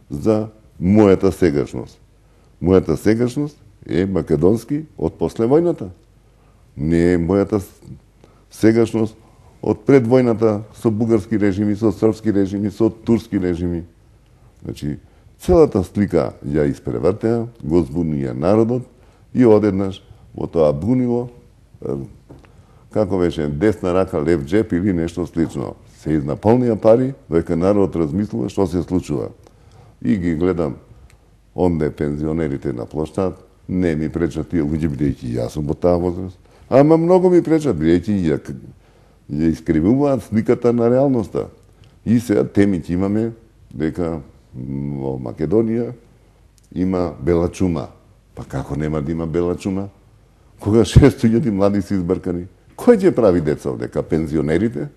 за мојата сегашност? Мојата сегашност е македонски од после војната. Не е мојата сегашност од пред војната со бугарски режими, со српски режими, со турски режими. Значи, целата слика ја испревртеа, го збунија народот и одеднаш во тоа бунило, како беше, десна рака, лев джеп или нешто слично. Се изнаполнија пари, дека народот размислува што се случува. И ги гледам онде пензионерите на площад, не ми пречат тие луѓе, бидејќи јас сум во таа возраст. Ама многу ми пречат, бидејќи ја, ја искривуваат сликата на реалноста. И сега темите имаме дека во Македонија има бела чума. Па како нема да има бела чума? Кога шесто илјади млади се избркани? Кој ќе прави деца овдека? Пензионерите?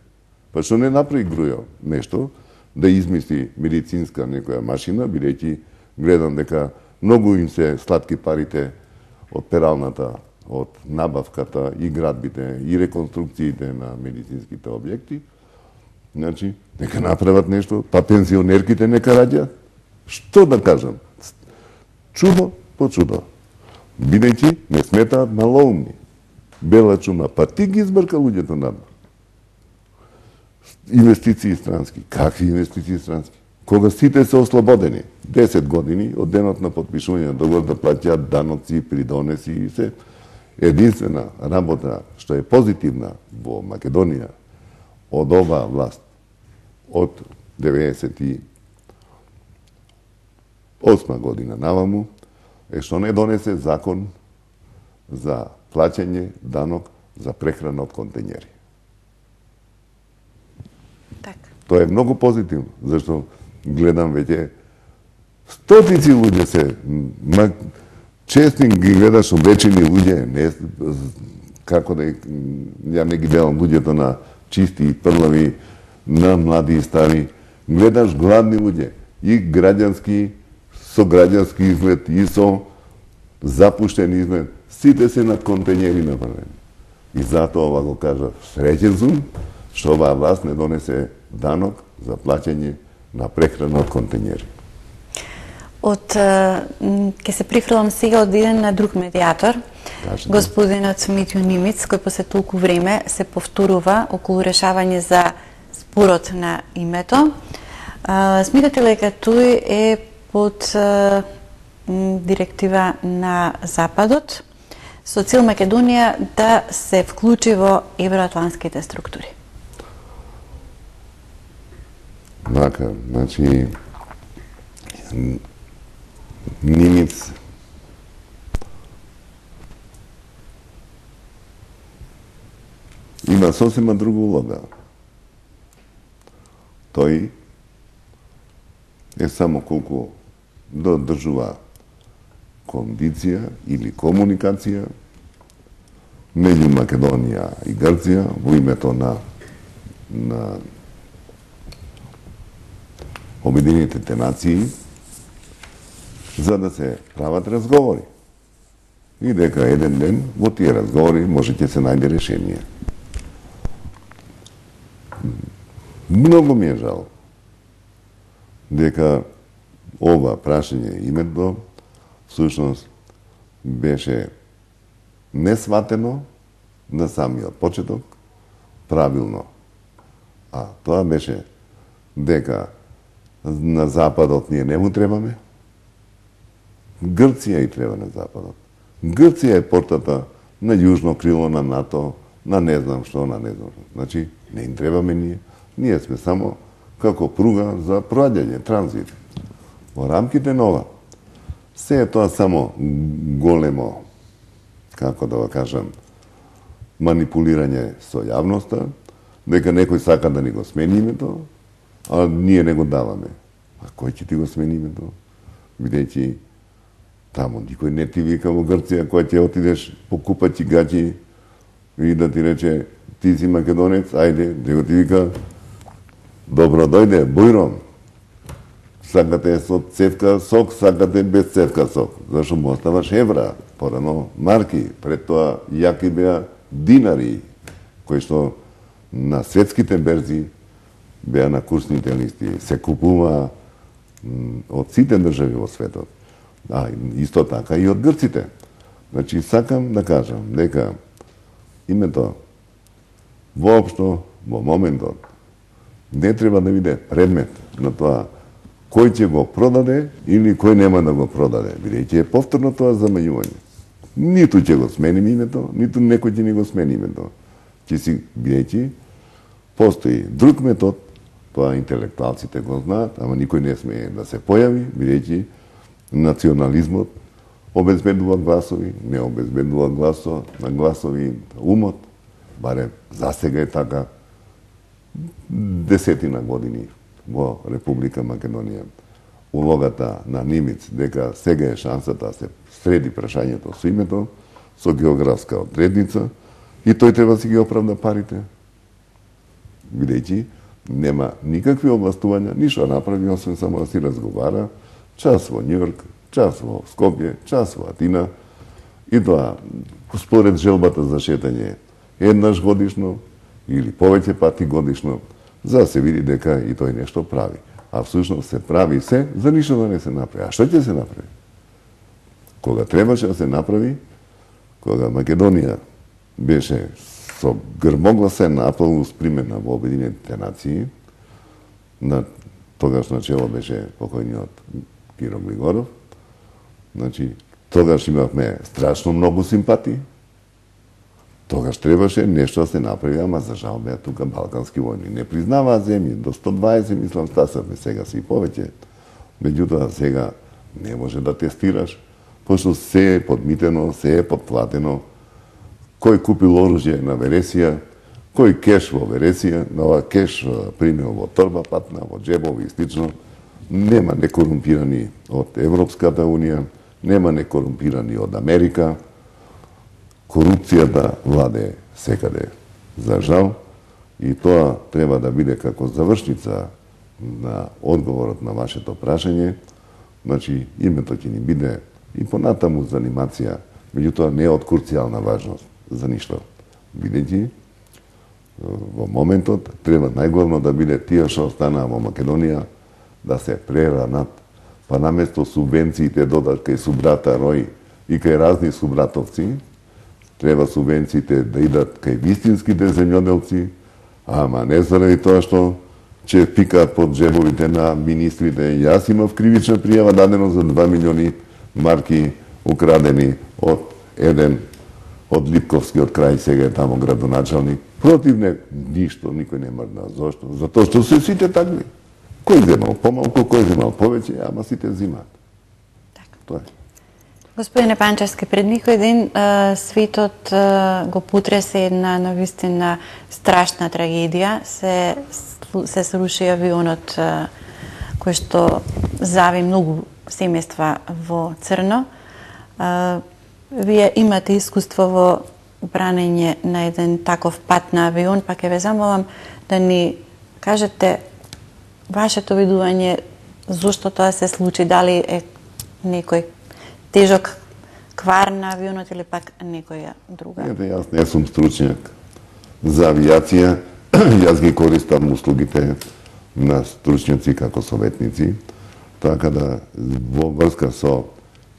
Па што не направи Грујо нешто да измисли медицинска некоја машина, бидејќи гледам дека многу им се сладки парите од пералната, од набавката и градбите и реконструкциите на медицинските објекти. Значи, нека направат нешто, па пензионерките нека раѓаат. Што да кажам? Чудо по чудо. Бидејќи не сметаат малоумни. Бела чума, па ти ги избрка луѓето надвор. Инвестиции странски. Какви инвестиции странски? Кога сите се ослободени, десет години од денот на подпишување на договор да плаќаат даноци, придонеси и се. Единствена работа што е позитивна во Македонија од оваа власт од деветдесет и осма година наваму е што не донесе закон за плаќање данок за прехрана од контењери. Така. Тоа е многу позитивно, зашто гледам веќе стотици луѓе се, ма, честни ги гледаш обечени луѓе, не, како да ја не ги гледам луѓето на чисти и прлави, на млади и стари, гледаш гладни луѓе, и граѓански, со граѓански изглед, и со запуштен изглед, сите се на контењери направени. И затоа ова го кажа, среќен сум, што оваа власт не донесе данок за плаќање на прехрана од контењери. Од, ке се прифрлам сега од еден на друг медиатор, Кажете. Господинот Митјо Нимиц, кој после толку време се повторува околу решавање за спорот на името. Смитате ли дека тој е под директива на Западот со цел Македонија да се вклучи во евроатлантските структури? Мака, значи Нимиц има сосема друга улога. Тој е само колку да одржува кондиција или комуникација меѓу Македонија и Грција во името на на Обединетите нации за да се прават разговори. И дека еден ден во тие разговори може ќе се најде решение. Многу ми е жал дека ова прашање името всушност беше несватено на самиот почеток правилно. А тоа беше дека на Западот ние не му требаме, Грција и треба на Западот. Грција е портата на јужно крило на НАТО, на не знам што, на не знам што. Значи, не им требаме ние. Ние сме само како пруга за проаѓање, транзит. Во рамките на ова, се е тоа само големо, како да го кажам, манипулирање со јавноста, дека некој сака да ни го смени името, а ние не го даваме. А кој ќе ти го смени името? Бидејќи таму никој не ти вика во Грција, кој ќе отидеш покупа ти гачи и да ти рече ти си македонец, ајде, него ти вика добро дојде, бујром. Сакате со цевка сок, сакате без цевка сок. Зашто му оставаш евра, порано марки, пред тоа јаки беа динари, кои што на светските берзи беа на курсните листи, се купува од сите држави во светот. А исто така и од грците. Значи, сакам да кажам дека името воопшто во моментот не треба да биде предмет на тоа кој ќе го продаде или кој нема да го продаде, бидејќи е повторно тоа замањување. Ниту ќе го сменим името, ниту некој ќе ни го смени името. Ќе си, бидејќи постои друг метод, тоа интелектуалците го знаат, ама никој не смее да се појави, бидејќи национализмот обезбедува гласови, не обезбедува гласо, на гласови умот, барем за сега е така, десетина години во Република Македонија. Улогата на Нимиц дека сега е шансата да се среди прашањето со името, со географска одредница, и тој треба да си ги оправда парите. Бидејќи нема никакви областувања, ништо направи, освен само да си разговара, час во Њујорк, час во Скопје, час во Атина, и тоа според желбата за шетање еднаш годишно или повеќе пати годишно, за да се види дека и тој нешто прави. А всушност се прави се, за ништо да не се направи. А што ќе се направи? Кога требаше да се направи, кога Македонија беше со грмогласен аплаус примена во Обединетите нации, на тогаш начело беше покојниот Киро Глигоров, значи, тогаш имавме страшно многу симпатии, тогаш требаше нешто да се направи, ама за жал беа тука балкански војни. Не признаваа земји, до сто дваесет мислам стасавме, сега се и повеќе. Меѓутоа сега не може да тестираш, пошто се е подмитено, се е подплатено. кој купил оружје на Венеција, кој кеш во Венеција, на ова кеш примил во торба патна, во джебови и слично. Нема некорумпирани од Европската Унија, нема некорумпирани од Америка. Корупцијата владе секаде, за жал, и тоа треба да биде како завршница на одговорот на вашето прашање. Значи, името ќе ни биде и понатаму за анимација, меѓутоа не од курцијална важност за ништо. Бидејќи во моментот треба најглавно да биде тие што останаа во Македонија да се преранат, па наместо субвенциите додат кај субрата рој и кај разни субратовци, треба субвенциите да идат кај вистинските земјоделци, ама не заради тоа што ќе пикаат под джебовите на министрите. Јас имав кривична пријава дадено за два милиони марки украдени од еден од Липковскиот крај, сега е тамо градоначалник. Против не, ништо, никој не мрдна. Зошто? Затоа што се сите такви. Кој земал помалку, кој земал повеќе, ама сите взимаат. Така. Тоа е. Господине Панчевски, пред никој ден а, светот а, го потресе една навистина страшна трагедија. Се, се сруши авионот а, кој што зави многу семејства во црно. А, вие имате искуство во бранење на еден таков пат на авион, па ќе ве замолам да ни кажете вашето видување зошто тоа се случи, дали е некој тежок квар на авионот или пак некоја друга? Ете, јас не сум стручњак за авиација, јас ги користам услугите на стручњаци како советници, така да во врска со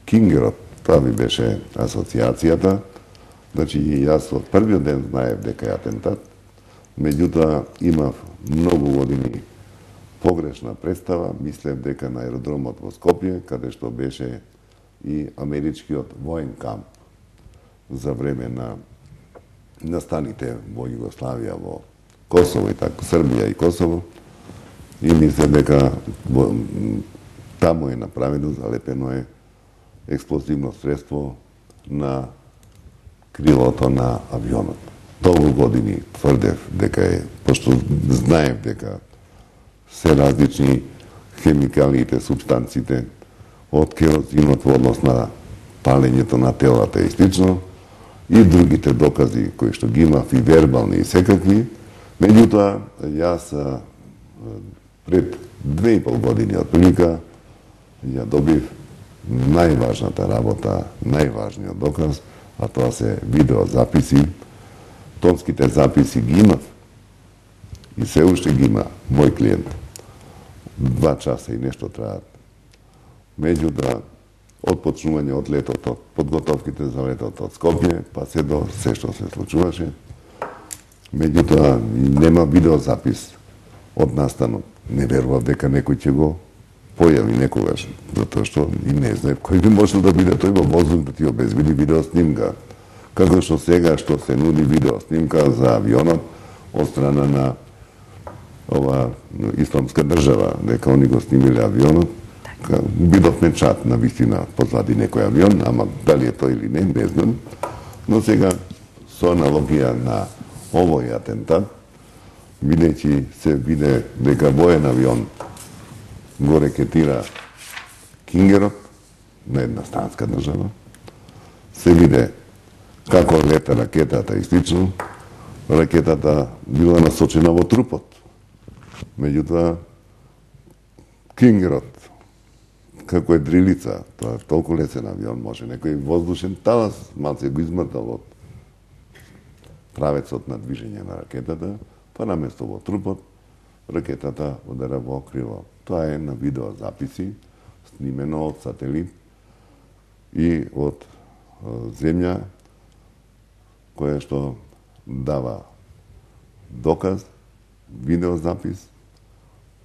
Кингерот, тоа ви беше асоциацијата, значи јас од првиот ден знаев дека е атентат, меѓутоа имав многу години погрешна представа, мислев дека на аеродромот во Скопје, каде што беше и америчкиот воен камп за време на настаните во Југославија, во Косово и така, Србија и Косово, и мислев дека во, таму е направено, залепено е експлозивно средство на крилото на авионот. Толку години тврдев дека е, пошто знаев дека се различни хемикалиите, субстанциите, од керозинот во однос на палењето на телата и слично, и другите докази кои што ги имав, и вербални и секакви. Меѓутоа, јас пред две и пол години од прилика ја добив најважната работа, најважниот доказ, а тоа се видеозаписи. Тонските записи ги имав и се уште ги има мој клиент. Два часа и нешто траат. Меѓутоа, од почнување од летото, од подготовките за летото од Скопје, па се до се што се случуваше. Меѓутоа, нема видеозапис од настанот. Не верував дека некој ќе го појави некогаш, затоа што и не знае кој би можел да биде тој во воздух да ти обезбеди видеоснимка. Како што сега што се нуди видеоснимка за авионот од страна на ова исламска држава, дека они го снимиле авионот. Бидовме чат на вистина позади некој авион, ама дали е тој или не, не знам. Но сега, со аналогија на овој атентат, бидејќи се виде дека воен авион го рекетира Кингерот на една странска држава, се виде како лета ракетата и слично, ракетата била насочена во трупот. Меѓутоа, Кингерот, како е дрилица, тоа е толку лесен авион, може некој воздушен талас малце го измртал од правецот на движење на ракетата, па наместо во трупот, ракетата удара во крило. Тоа е на видеозаписи, снимено од сателит и од земја, која што дава доказ, видеозапис,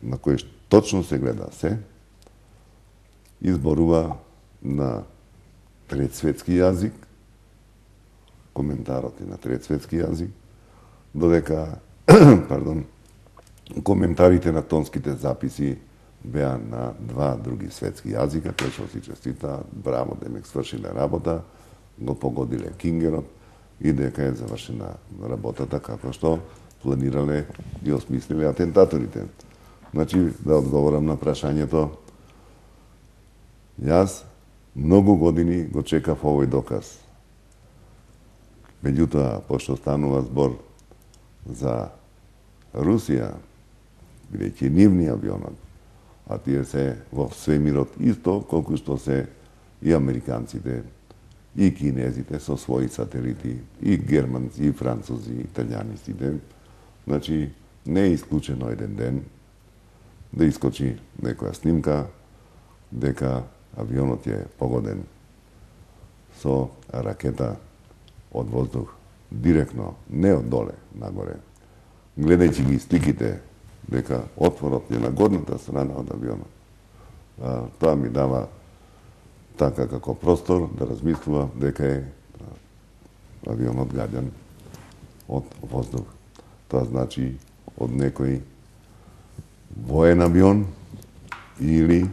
на кој точно се гледа се, изборува на трет светски јазик, коментарот е на трет светски јазик, додека, пардон, коментарите на тонските записи беа на два други светски јазика, кои што си честита, браво, демек свршиле работа, го погодиле Кингерот, и дека е завршена работата како што планирале и осмислиле атентаторите. Значи, да одговорам на прашањето, јас многу години го чекав овој доказ. Меѓутоа, пошто станува збор за Русија, бидејќи нивни авионот, а тие се во свемирот исто колку што се и американците, и кинезите со своји сателити, и германци, и французи, и италијанистите. Значи, не е исклучено еден ден да искочи некоја снимка дека авионот е погоден со ракета од воздух, директно, не од доле, нагоре. Гледајќи ги сликите дека отворот е на горната страна од авионот. А, тоа ми дава така како простор да размислува дека е авионот гаѓан од воздух. Тоа значи од некој воен авион или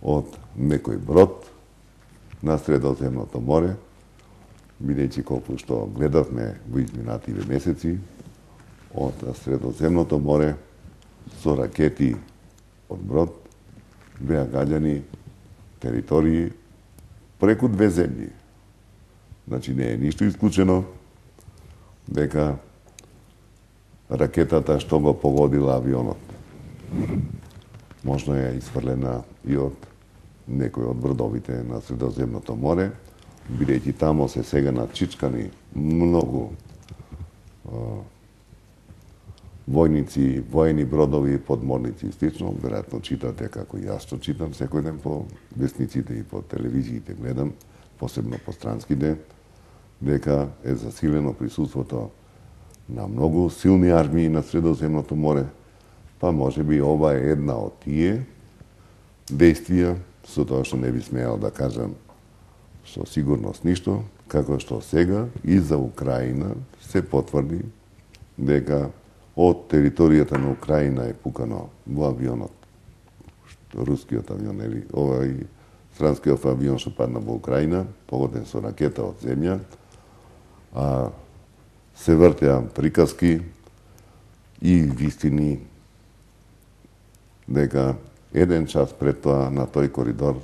од некој брод на Средоземното море, бидејќи колку што гледавме во изминативе месеци, од Средоземното море со ракети од брод беа гаѓани територии преку две земји. Значи не е ништо исклучено дека ракетата што го погодила авионот можно е изфрлена и од некој од бродовите на Средоземното море, бидејќи тамо се сега начичкани многу а, војници, воени бродови, подморници и слично. Веројатно читате како и јас што читам секој ден по весниците и по телевизиите гледам, посебно по странските, дека е засилено присуството на многу силни армии на Средоземното море, па може би ова е една од тие действија, со тоа што не би смеал да кажам со сигурност ништо, како што сега и за Украина се потврди дека од територијата на Украина е пукано во авионот, рускиот авион, или овај странскиот авион што падна во Украина, погоден со ракета од земја, а се вртеа приказки и вистини дека еден час пред тоа на тој коридор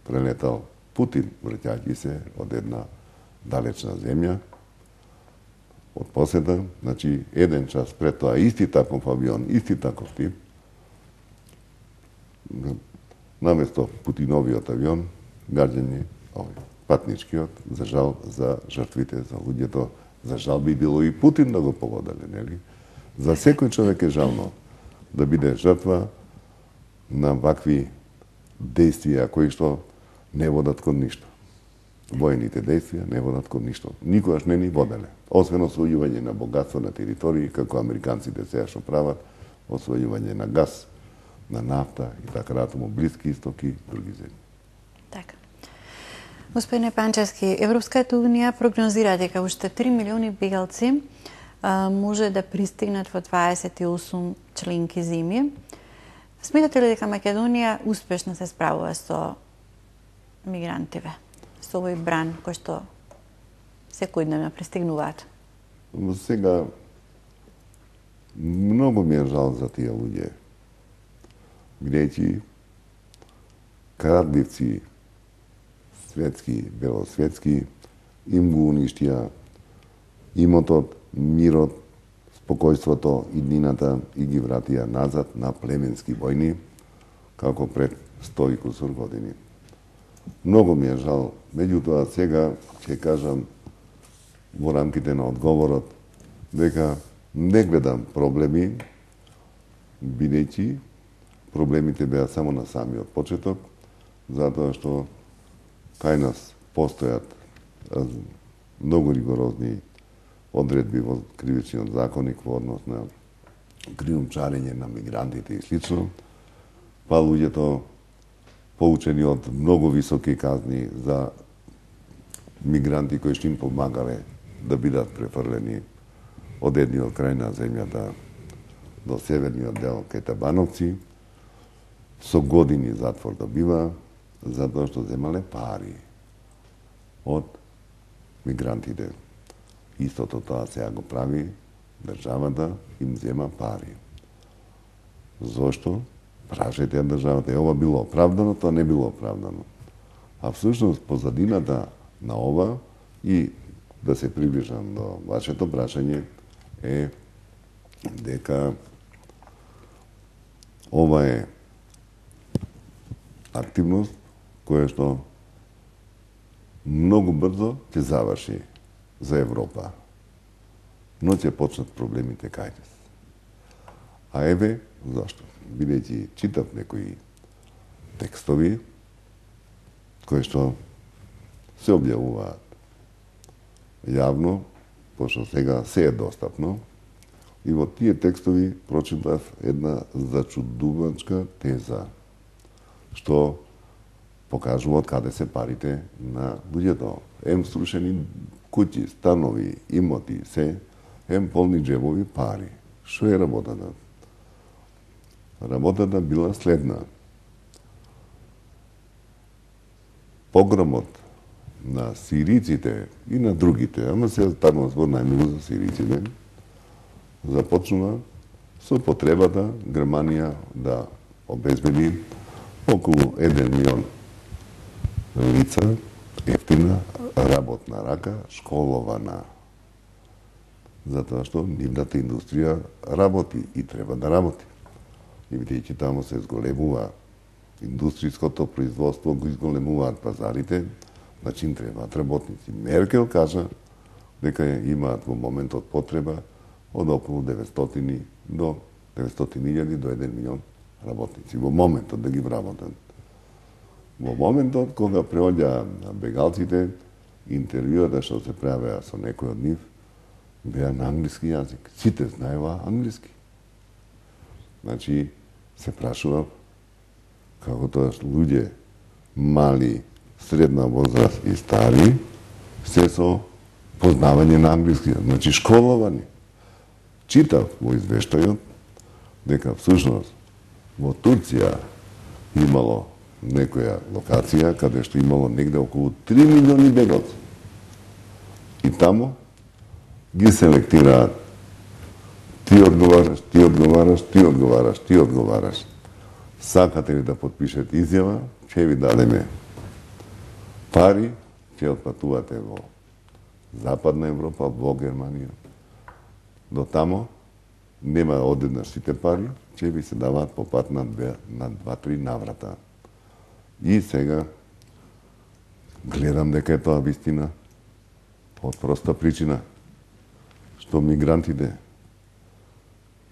прелетал Путин, враќајќи се од една далечна земја, од посета, значи еден час пред тоа исти таков авион, исти таков тип, наместо Путиновиот авион, гаѓање овој патничкиот, за жал за жртвите, за луѓето, за жал би било и Путин да го погодале, нели? За секој човек е жално да биде жртва на вакви действија кои што не водат кон ништо. Воените действија не водат кон ништо. Никогаш не ни воделе. Освен освојување на богатство на територии, како американците сега што прават, освојување на газ, на нафта и така натаму, Блиски Исток и други земји. Така. Господине Панчевски, Европската унија прогнозира дека уште три милиони бегалци а, може да пристигнат во дваесет и осум членки земји. Сметате ли дека Македонија успешно се справува со мигрантиве, со овој бран кој што секојдневно пристигнуваат? Сега, многу ми е жал за тие луѓе, бидејќи крадливци светски, белосветски, им го уништија имотот, мирот, спокојството, иднината и ги вратија назад на племенски војни, како пред сто и кусур години. Многу ми е жал, меѓутоа сега ќе кажам во рамките на одговорот дека не гледам проблеми, бидејќи проблемите беа само на самиот почеток, затоа што кај нас постојат многу ригорозни одредби во кривичниот законник во однос на криумчарење на мигрантите и слично, па луѓето поучени од многу високи казни за мигранти кои што им помагале да бидат префрлени од едниот крај на земјата до северниот дел кај Табановци, со години затвор добива, затоа што земале пари од мигрантите. Истото тоа сега го прави државата, им зема пари. Зошто? Прашајте ја државата, е ова било оправдано, тоа не било оправдано. А всушност позадината на ова и да се приближам до вашето прашање е дека ова е активност која што многу брзо ќе заврши за Европа. Но ќе почнат проблемите кај нас. А еве зашто? Бидејќи читав некои текстови кои што се објавуваат јавно, пошто сега се е достапно, и во тие текстови прочитав една зачудувачка теза, што покажува од каде се парите на луѓето. Ем срушени куќи, станови, имоти, се, ем полни джебови пари. Што е работата? Работата била следна. Погромот на сириците и на другите, ама се станува збор најмногу за сириците, започнува со потребата Германија да обезбеди околу еден милион лица, ефтина работна рака, школована. Затоа што нивната индустрија работи и треба да работи. И бидејќи таму се зголемува индустријското производство, го изголемуваат пазарите, значи им требаат работници. Меркел кажа дека имаат во моментот потреба од околу деветстотини до деветстотини илјади до еден милион работници. Во моментот да ги вработат. Во моментот кога преоѓа бегалците, интервјуата што се правеа со некој од нив, беа на англиски јазик. Сите знаева англиски. Значи, се прашува како тоа луѓе мали, средна возраст и стари, се со познавање на англиски, значи школовани. Читав во извештајот дека всушност во Турција имало некоја локација каде што имало негде околу три милиони бегалци. И тамо ги селектираат. Ти одговараш, ти одговараш, ти одговараш, ти одговараш. Сакате ли да подпишете изјава, ќе ви дадеме пари, ќе отпатувате во Западна Европа, во Германија. До тамо нема одеднаш сите пари, ќе ви се даваат по пат на два-три наврата. И сега гледам дека е тоа вистина од проста причина што мигрантите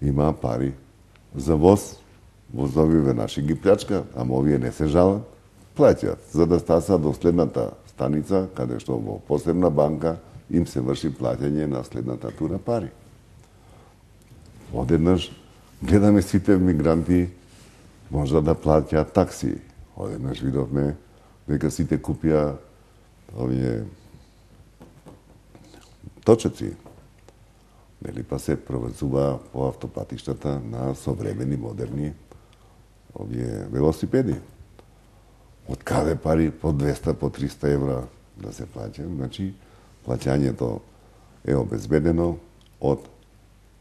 имаа пари за воз, возовиве наши ги плячка, ама овие не се жалат, плаќаат за да стасат до следната станица, каде што во посебна банка им се врши плаќање на следната тура пари. Одеднаш гледаме сите мигранти можда да плаќаат такси. Одеднаш видовме дека сите купија овие точеци. Нели па се провезува по автопатиштата на современи, модерни овие велосипеди. Од каде пари по двеста, по триста евра да се плаќа? Значи, плаќањето е обезбедено од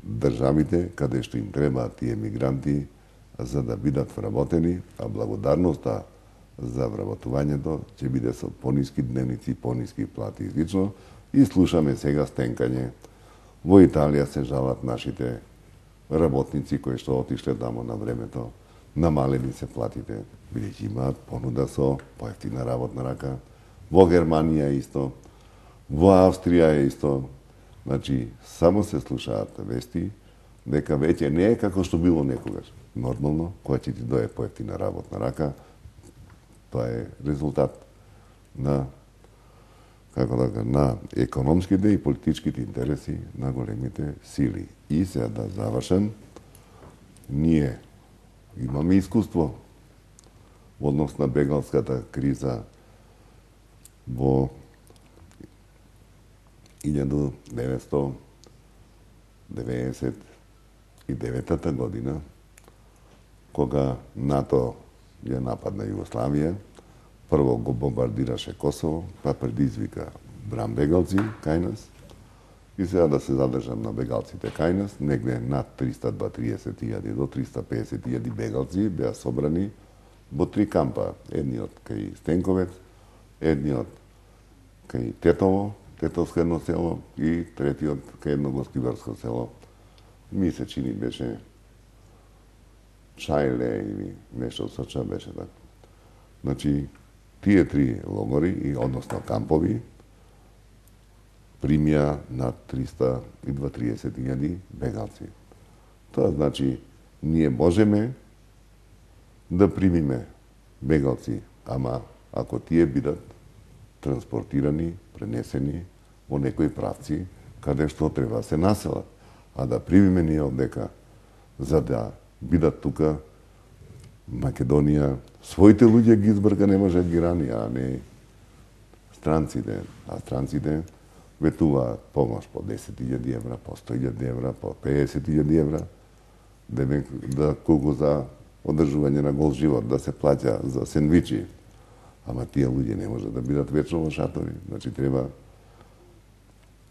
државите каде што им требаат тие мигранти за да бидат вработени, а благодарноста за вработувањето ќе биде со пониски дневници, пониски плати и слично. И слушаме сега стенкање. Во Италија се жалат нашите работници кои што отишле тамо на времето, намалени се платите, бидејќи имаат понуда со поевтина работна рака. Во Германија исто, во Австрија е исто. Значи, само се слушаат вести дека веќе не е како што било некогаш. Нормално, која ќе ти дое поевтина работна рака, тоа е резултат на како да кажа, на економските и политичките интереси на големите сили. И сега да завршам, ние имаме искуство во однос на бегалската криза во илјада деветстотини деветдесет и девета година, кога НАТО ја нападна Југославија, прво го бомбардираше Косово, па предизвика брам бегалци кај нас. И сега да се задржам на бегалците кај нас, негде над триста и триесет илјади до триста и песет илјади бегалци беа собрани во три кампа. Едниот кај Стенковец, едниот кај Тетово, Тетовско едно село, и третиот кај едно гостиварско село. Ми се чини беше Чајле или нешто со ча беше така. Значи, тие три логори, и односно кампови, примија над триста и триесет илјади бегалци. Тоа значи, ние можеме да примиме бегалци, ама ако тие бидат транспортирани, пренесени во некои правци, каде што треба се населат. А да примиме ние одека, за да бидат тука Македонија, своите луѓе ги избрка, не може да ги рани, а не странците. А странците ветуваат помош по десет илјади евра, по сто илјади евра, по педесет илјади евра, да, да колку за одржување на гол живот, да се плаќа за сендвичи. Ама тие луѓе не може да бидат вечно во шатори. Значи треба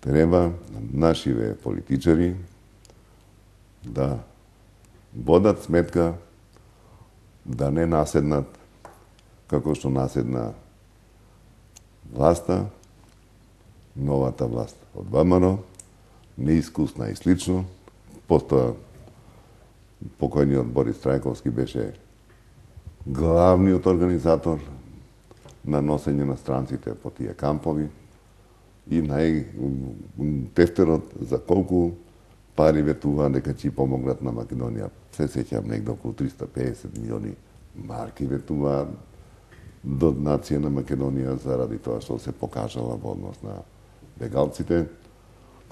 треба нашиве политичари да водат сметка да не наседнат како што наседна власта, новата власт од ВМРО, неискусна и слично. Постоја покојниот Борис Трајковски беше главниот организатор на носење на странците по тие кампови и најтефтерот за колку пари ветува дека ќе помогнат на Македонија. Се сеќам негде околу триста и песет милиони марки ветува до нација на Македонија заради тоа што се покажала во однос на бегалците.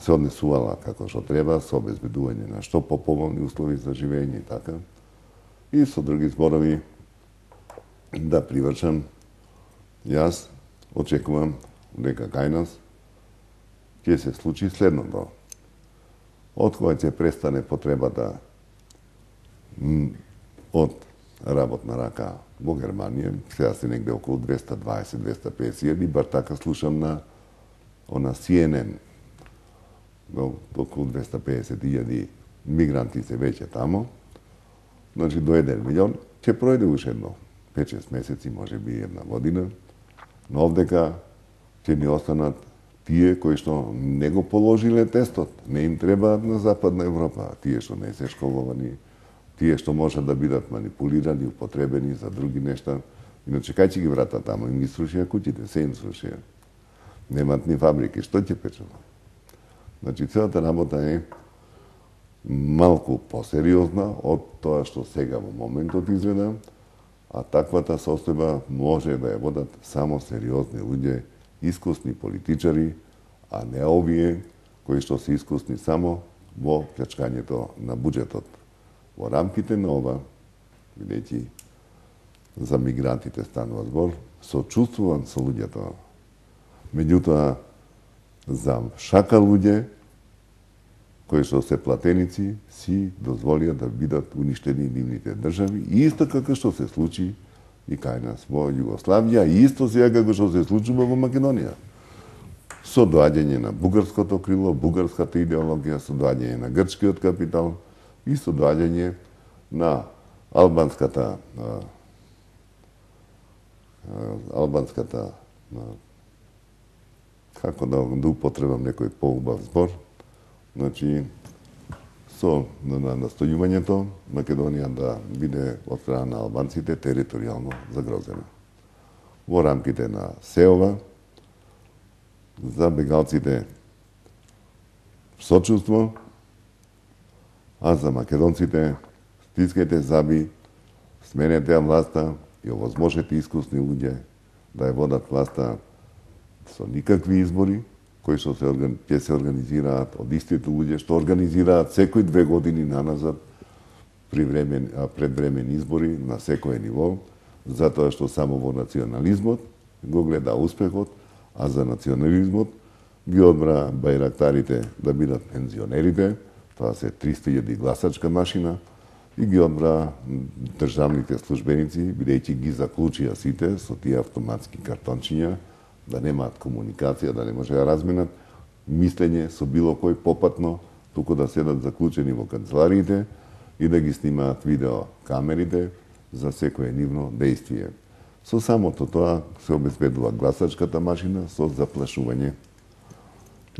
Се однесувала како што треба, со обезбедување на што поповолни услови за живење и така. И со други зборови, да привршам, јас очекувам дека кај нас ќе се случи следното. Од кога ќе престане потребата од работна рака во Германија, сега се негде околу двеста и дваесет до двеста и песет илјади, бар така слушам на она Си Ен Ен, околу двеста и песет илјади мигранти се веќе тамо, значи до еден милион, ќе пројде уште едно пет-шест месеци, може би една година, но овдека ќе ни останат тие кои што не го положиле тестот, не им требаат на Западна Европа, тие што не се школовани, тие што можат да бидат манипулирани, употребени за други нешта. Иначе кај ќе ги вратат тамо? Им ги срушија куќите, се им срушија. Немат ни фабрики, што ќе печат? Значи, целата работа е малку посериозна од тоа што сега во моментот изгледа, а таквата состојба може да ја водат само сериозни луѓе, искусни политичари, а не овие кои што се искусни само во плячкањето на буџетот. Во рамките на ова, бидејќи за мигрантите станува збор, сочувствувам со луѓето. Меѓутоа, за шака луѓе кои што се платеници си дозволија да бидат уништени нивните држави, и исто како што се случи и кај нас во Југославија, и исто сега како што се случува во Македонија. Со доаѓање на бугарското крило, бугарската идеологија, со доаѓање на грчкиот капитал и со доаѓање на албанската а, албанската а, како да, да употребам некој поубав збор, значи со на настојувањето Македонија да биде од страна на албанците територијално загрозена. Во рамките на СЕОВА за бегалците сочувство, а за македонците стискајте заби, сменете ја власта и овозможете искусни луѓе да ја водат власта со никакви избори, кои што се орган... ќе се организираат од истите луѓе што организираат секој две години наназад при времен... предвремени избори на секој ниво, затоа што само во национализмот го гледа успехот, а за национализмот ги одбра бајрактарите да бидат пензионерите, тоа се триста илјади гласачка машина, и ги одбра државните службеници, бидејќи ги заклучија сите со тие автоматски картончиња, да немаат комуникација, да не може да разменат мислење со било кој попатно, туку да седат заклучени во канцелариите и да ги снимаат видео камерите за секое нивно действие. Со самото тоа се обезбедува гласачката машина со заплашување.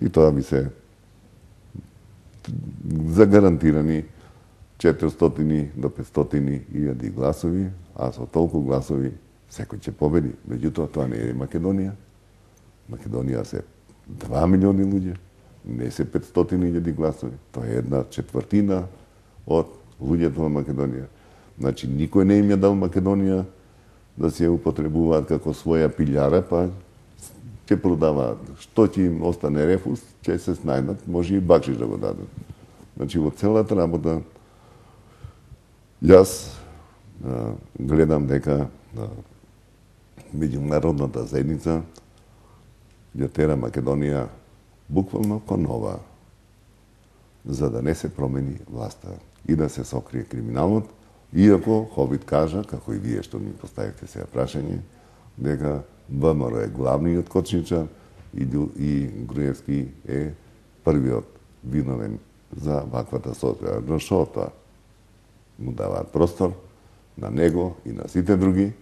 И тоа би се загарантирани четиристотини до петстотини илјади гласови, а со толку гласови секој ќе победи. Меѓутоа, тоа не е Македонија. Македонија се два милиони луѓе, не се петстотини илјади гласови. Тоа е една четвртина од луѓето во Македонија. Значи, никој не им ја дал Македонија да се употребуваат како своја пилјара, па ќе продаваат. Што ќе им остане рефус, ќе се снајдат, може и бакшиш да го дадат. Значи, во целата работа, јас а, гледам дека а, меѓународната заедница ја тера Македонија буквално кон нова, за да не се промени власта и да се сокрие криминалот, иако Хобит кажа, како и вие што ми поставивте сега прашање, дека ВМРО е главниот кочничар и, и Груевски е првиот виновен за ваквата состојба. Но што тоа? Му даваат простор на него и на сите други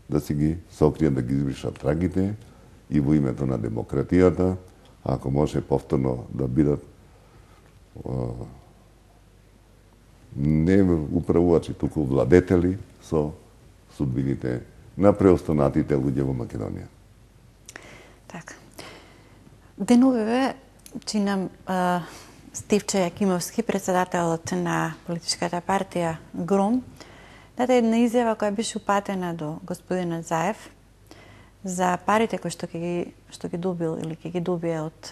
да си ги сокријат, да ги избришат трагите и во името на демократијата, ако може повторно да бидат о, не управувачи, туку владетели со судбините на преостанатите луѓе во Македонија. Така. Деновиве чинам а, Стивче Јакимовски, председателот на политичката партија Гром, даде една изјава која беше упатена до господинот Заев за парите кои што ги што ги добил или ќе ги добие од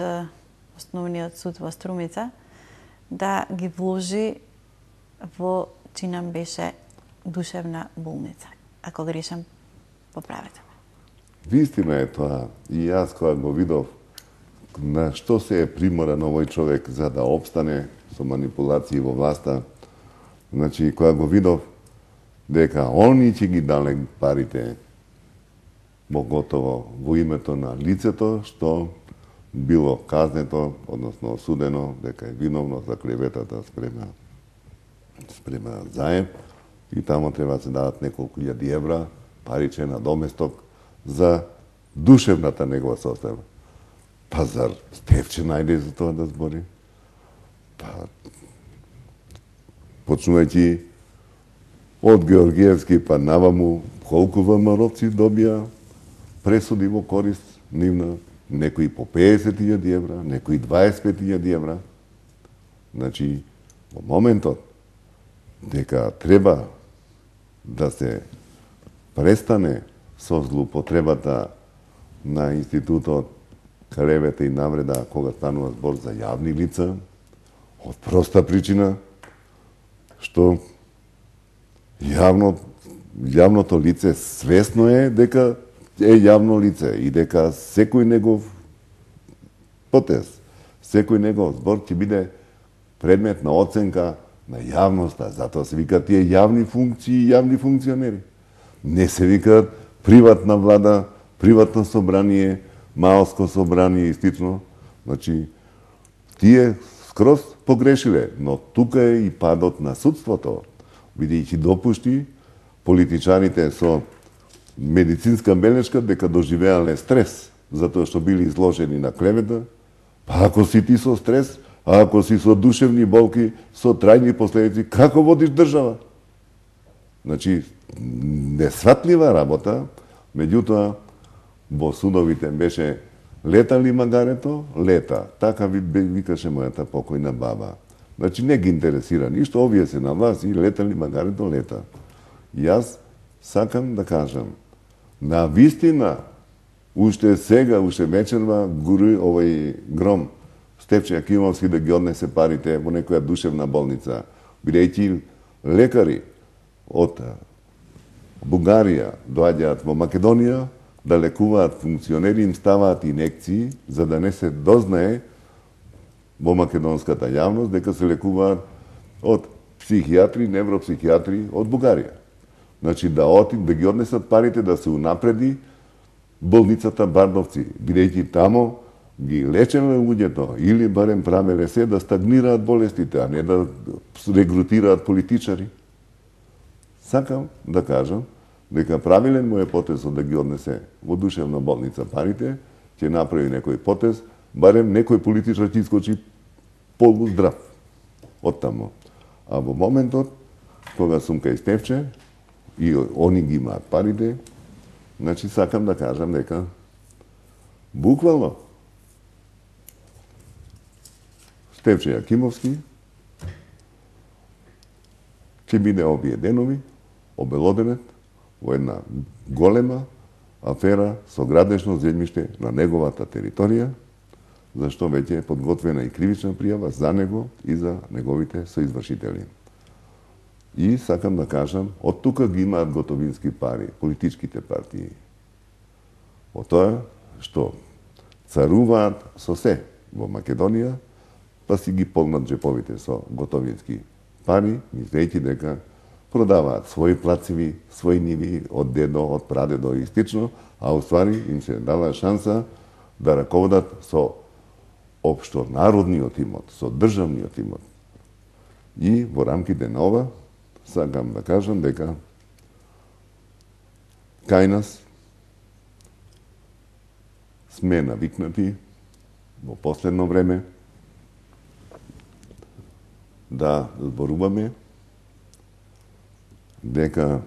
основниот суд во Струмица, да ги вложи во, чинам беше, душевна болница. Ако грешам, поправете ме. Вистина е тоа. И јас кога го видов на што се е приморан овој човек за да обстане со манипулации во власта, значи кога го видов дека они ќе ги дале парите, готово во името на лицето што било казнето, односно осудено дека е виновно за клеветата спрема спрема Заев, и тамо треба да се дадат неколку илјади евра паричен доместок за душевната негова состојба. Па зар Стефче најде за тоа да збори? Па почнувајќи од Георгиевски па наваму, колку ВМРО-ци добија пресуди во корист нивна, некои по педесет илјади евра, некои дваесет и пет илјади евра. Значи, во моментот дека треба да се престане со злоупотребата на институтот клевета и навреда кога станува збор за јавни лица, од проста причина што јавно, јавното лице свесно е дека е јавно лице и дека секој негов потез, секој негов збор ќе биде предмет на оценка на јавноста. Затоа се викаат тие јавни функции и јавни функционери. Не се викаат приватна влада, приватно собрание, малско собрание и стично. Значи, тие скроз погрешиле, но тука е и падот на судството, бидејќи допушти политичарите со медицинска белешка дека доживеале стрес, затоа што били изложени на клевета. Па ако си ти со стрес, а ако си со душевни болки, со трајни последици, како водиш држава? Значи, несватлива работа, меѓутоа, во судовите беше лета ли магарето? Лета. Така ви викаше мојата покојна баба. Значи, не ги интересира ништо, овие се на власт и лета ли магарето? Лета. Јас сакам да кажам, на вистина, уште сега, уште вечерва, гури овој Гром, Стефче Јакимовски да ги однесе парите во некоја душевна болница, бидејќи лекари од Бугарија доаѓаат во Македонија да лекуваат функционери, им ставаат инекции, за да не се дознае во македонската јавност дека се лекуваат од психијатри, невропсихијатри од Бугарија. Значи да оти, да ги однесат парите, да се унапреди болницата Бардовци, бидејќи тамо ги лечеле луѓето или барем правеле се да стагнираат болестите, а не да регрутираат политичари. Сакам да кажам дека правилен му е потезот да ги однесе во душевна болница парите, ќе направи некој потез, барем некој политичар ќе искочи полуздрав од тамо. А во моментот, кога сум кај Стефче, и они ги имаат парите, значи сакам да кажам дека буквално Стефче Јакимовски ќе биде овие денови обелоденет во една голема афера со градешно земјиште на неговата територија, зашто веќе е подготвена и кривична пријава за него и за неговите соизвршители. И сакам да кажам, од тука ги имаат готовински пари, политичките партии. Од тоа што царуваат со се во Македонија, па си ги полнат джеповите со готовински пари, мислејќи дека продаваат своји плациви, своји ниви од дедо, од прадедо и стично, а уствари им се дава шанса да раководат со општо народниот имот, со државниот имот. И во рамките на ова, сакам да кажам дека кај нас сме навикнати во последно време да зборуваме дека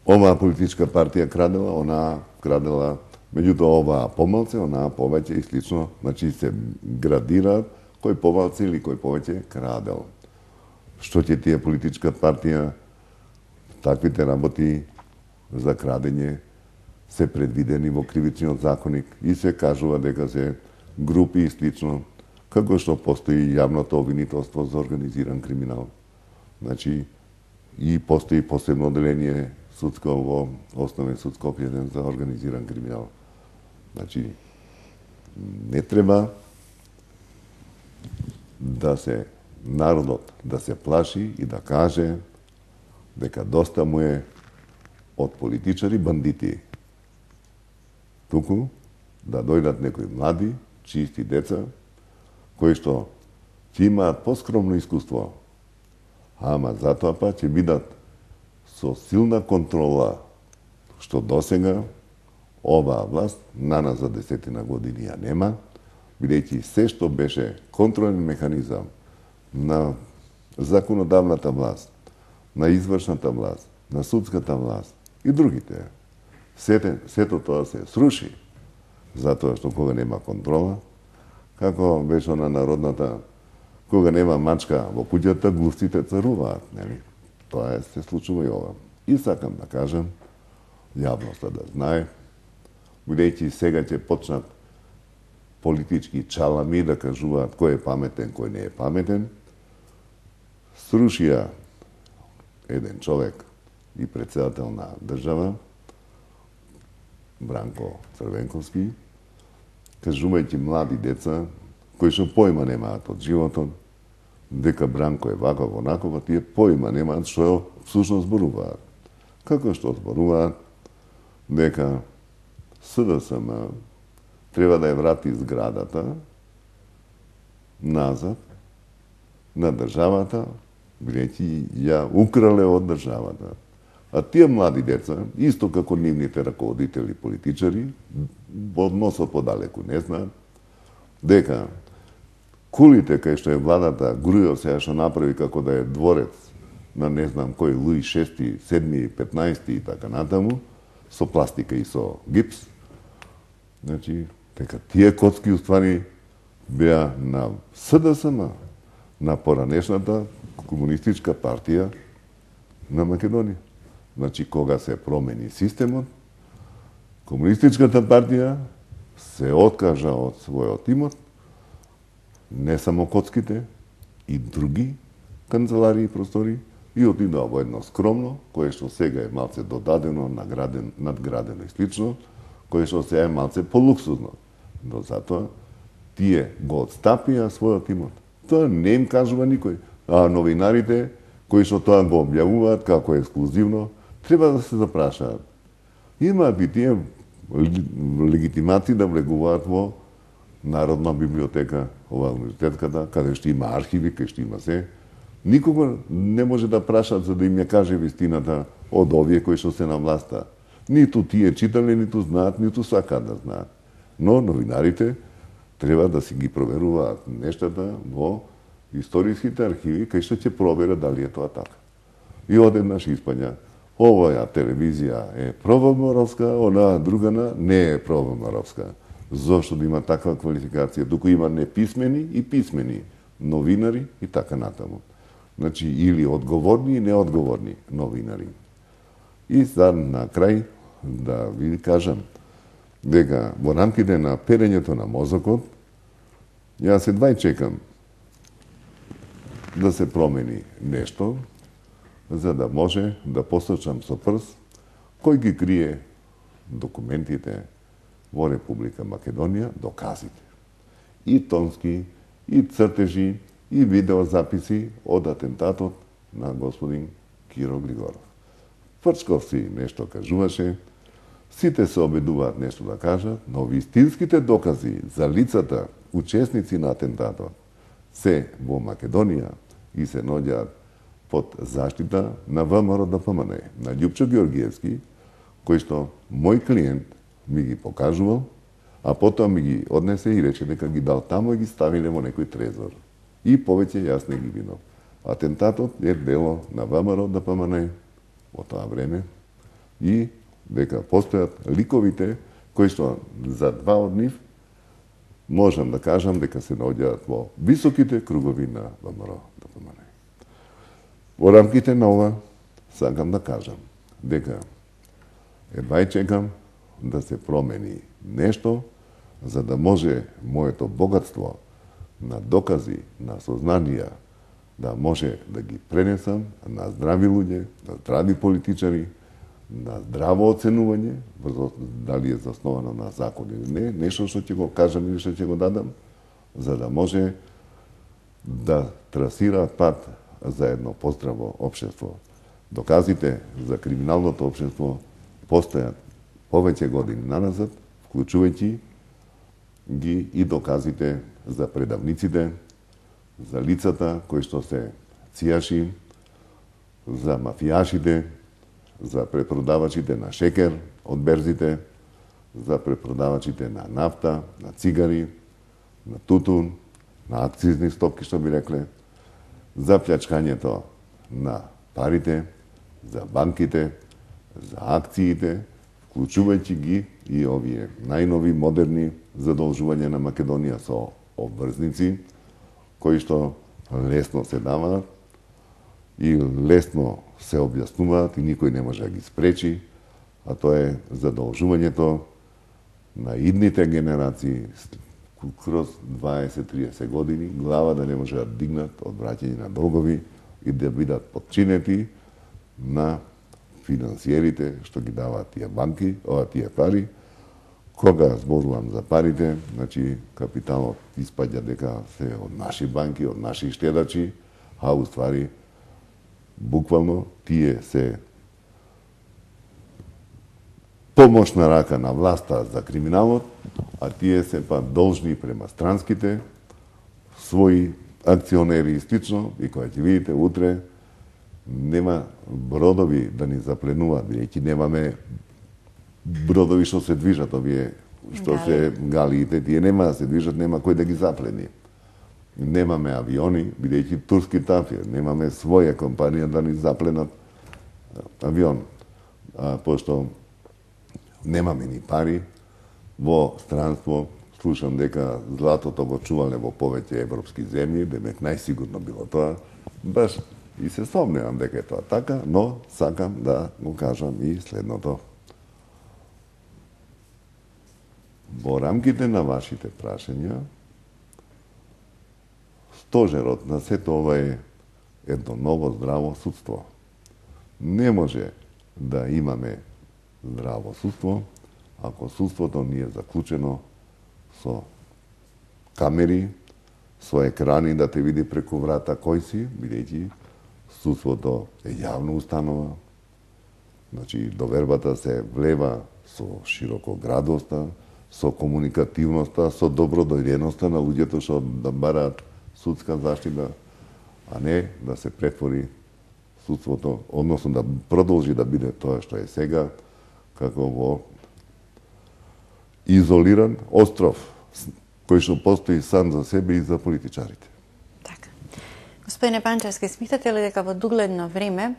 оваа политичка партија крадела, онаа крадела, меѓутоа оваа помалце, онаа повеќе и слично, значи се градираат кој помалце или кој повеќе крадел. Што ќе тие политичка партија, таквите работи за крадење се предвидени во кривичниот законник и се кажува дека се групи и слично, како што постои јавното обвинителство за организиран криминал. Значи, и постои посебно оделение судско во Основен суд Скопје за организиран криминал. Значи, не треба да се народот да се плаши и да каже дека доста му е од политичари бандити. Туку да дојдат некои млади, чисти деца, кои што ќе имаат поскромно искуство, ама затоа па ќе бидат со силна контрола, што досега оваа власт на нас за десетина години ја нема, бидејќи се што беше контролен механизам на законодавната власт, на извршната власт, на судската власт и другите, сето, сето тоа се сруши, затоа што кога нема контрола, како беше на народната, кога нема мачка во куќата, глувците царуваат, нели? Тоа е, се случува и ова. И сакам да кажам, јавноста да знае, бидејќи сега ќе почнат политички чалами да кажуваат кој е паметен, кој не е паметен, срушија еден човек и председател на држава, Бранко Црвенковски, кажувајќи млади деца, кои што појма немаат од животот, дека Бранко е ваков, онаков, тие појма немаат што всушност зборуваат. Како што зборуваат дека СДСМ треба да ја врати зградата назад на државата, бидејќи ја украле од државата. А тие млади деца, исто како нивните раководители политичари, од носот подалеку не знаат, дека кулите кај што е владата Грујо сега што направи како да е дворец на не знам кој Луи шести, седми, петнаести и така натаму, со пластика и со гипс, значи, дека тие коцки уствари беа на СДСМ, на поранешната комунистичка партија на Македонија. Значи, кога се промени системот, комунистичката партија се откажа од својот имот, не само коцките, и други канцеларии и простори, и отидоа во едно скромно, кое што сега е малце додадено, награден, надградено и слично, кое што сега е малце полуксузно. Но затоа тие го отстапија својот имот. Тоа не им кажува никој. А новинарите, кои што тоа го објавуваат како ексклузивно, треба да се запрашаат. имаат и тие легитимации да влегуваат во Народна библиотека, ова универзитетската, каде што има архиви, каде што има се. Никога не може да прашат за да им ја каже вистината од овие кои што се на власта. Ниту тие читале, ниту знаат, ниту сакаат да знаат. Но новинарите треба да си ги проверуваат нештата во историските архиви, кај што ќе проверат дали е тоа така. И одеднаш испања, оваа телевизија е провоморовска, онаа другана не е провоморовска. Зошто да има таква квалификација, туку има неписмени и писмени новинари и така натаму. Значи, или одговорни и неодговорни новинари. И за на крај да ви кажам дека во рамките на перењето на мозокот, јас едва чекам да се промени нешто, за да може да посочам со прст кој ги крие документите во Република Македонија, доказите. И тонски, и цртежи, и видеозаписи од атентатот на господин Киро Григоров. Фрчков си нешто кажуваше, сите се обидуваат нешто да кажат, но вистинските докази за лицата, учесници на атентатот, се во Македонија и се наоѓаат под заштита на ВМРО-ДПМН, на Љупчо Георгиевски, кој што мој клиент ми ги покажувал, а потоа ми ги однесе и рече дека ги дал таму и ги ставиле во некој трезор. И повеќе јас не ги видов. Атентатот е дело на ВМРО-ДПМН во тоа време и дека постојат ликовите кои што за два од нив можам да кажам дека се наоѓаат во високите кругови на ВМРО-ДПМН. Во рамките на ова сакам да кажам дека едва чекам да се промени нешто за да може моето богатство на докази, на сознанија да може да ги пренесам на здрави луѓе, на здрави политичари, на здраво оценување, дали е засновано на закон или не, нешто што ќе го кажам или што ќе го дадам, за да може да трасираат пат за едно поздраво општество. Доказите за криминалното општество постојат повеќе години наназад, вклучувајќи ги и доказите за предавниците, за лицата кои што се цијаши, за мафијашите, за препродавачите на шекер од берзите, за препродавачите на нафта, на цигари, на тутун, на акцизни стопки, што би рекле, за плјачкањето на парите, за банките, за акциите, вклучувајќи ги и овие најнови модерни задолжувања на Македонија со обврзници, кои што лесно се даваат и лесно се објаснуваат и никој не може да ги спречи, а тоа е задолжувањето на идните генерации кроз дваесет до триесет години, глава да не може да дигнат од враќање на долгови и да бидат подчинети на финансиерите што ги даваат тие банки, ова тие пари. Кога зборувам за парите, значи капиталот испаѓа дека се од наши банки, од наши штедачи, а уствари буквално тие се помошна рака на власта за криминалот, а тие се па должни према странските своји акционери и слично, и кога ќе видите утре нема бродови да ни запленуваат, бидејќи немаме бродови што се движат, овие што Гали. се галиите, тие нема да се движат, нема кој да ги заплени. Немаме авиони, бидејќи турски тафир, немаме своја компанија да ни запленат авион. А, пошто немаме ни пари, во странство слушам дека златото го чувале во повеќе европски земји, демек најсигурно било тоа. Баш и се сомневам дека е тоа така, но сакам да го кажам и следното. Во рамките на вашите прашања, стожерот на сето ова е едно ново здраво судство. Не може да имаме здраво судство ако судството не е заклучено со камери, со екрани да те види преку врата кој си, бидејќи судството е јавна установа, Значи, довербата се влева со широкоградоста, со комуникативноста, со добродојденоста на луѓето што да бараат судска заштита, а не да се претвори судството, односно да продолжи да биде тоа што е сега, како во изолиран остров, кој што постои сам за себе и за политичарите. Така. Господине Панчевски, смитате ли дека во дугледно време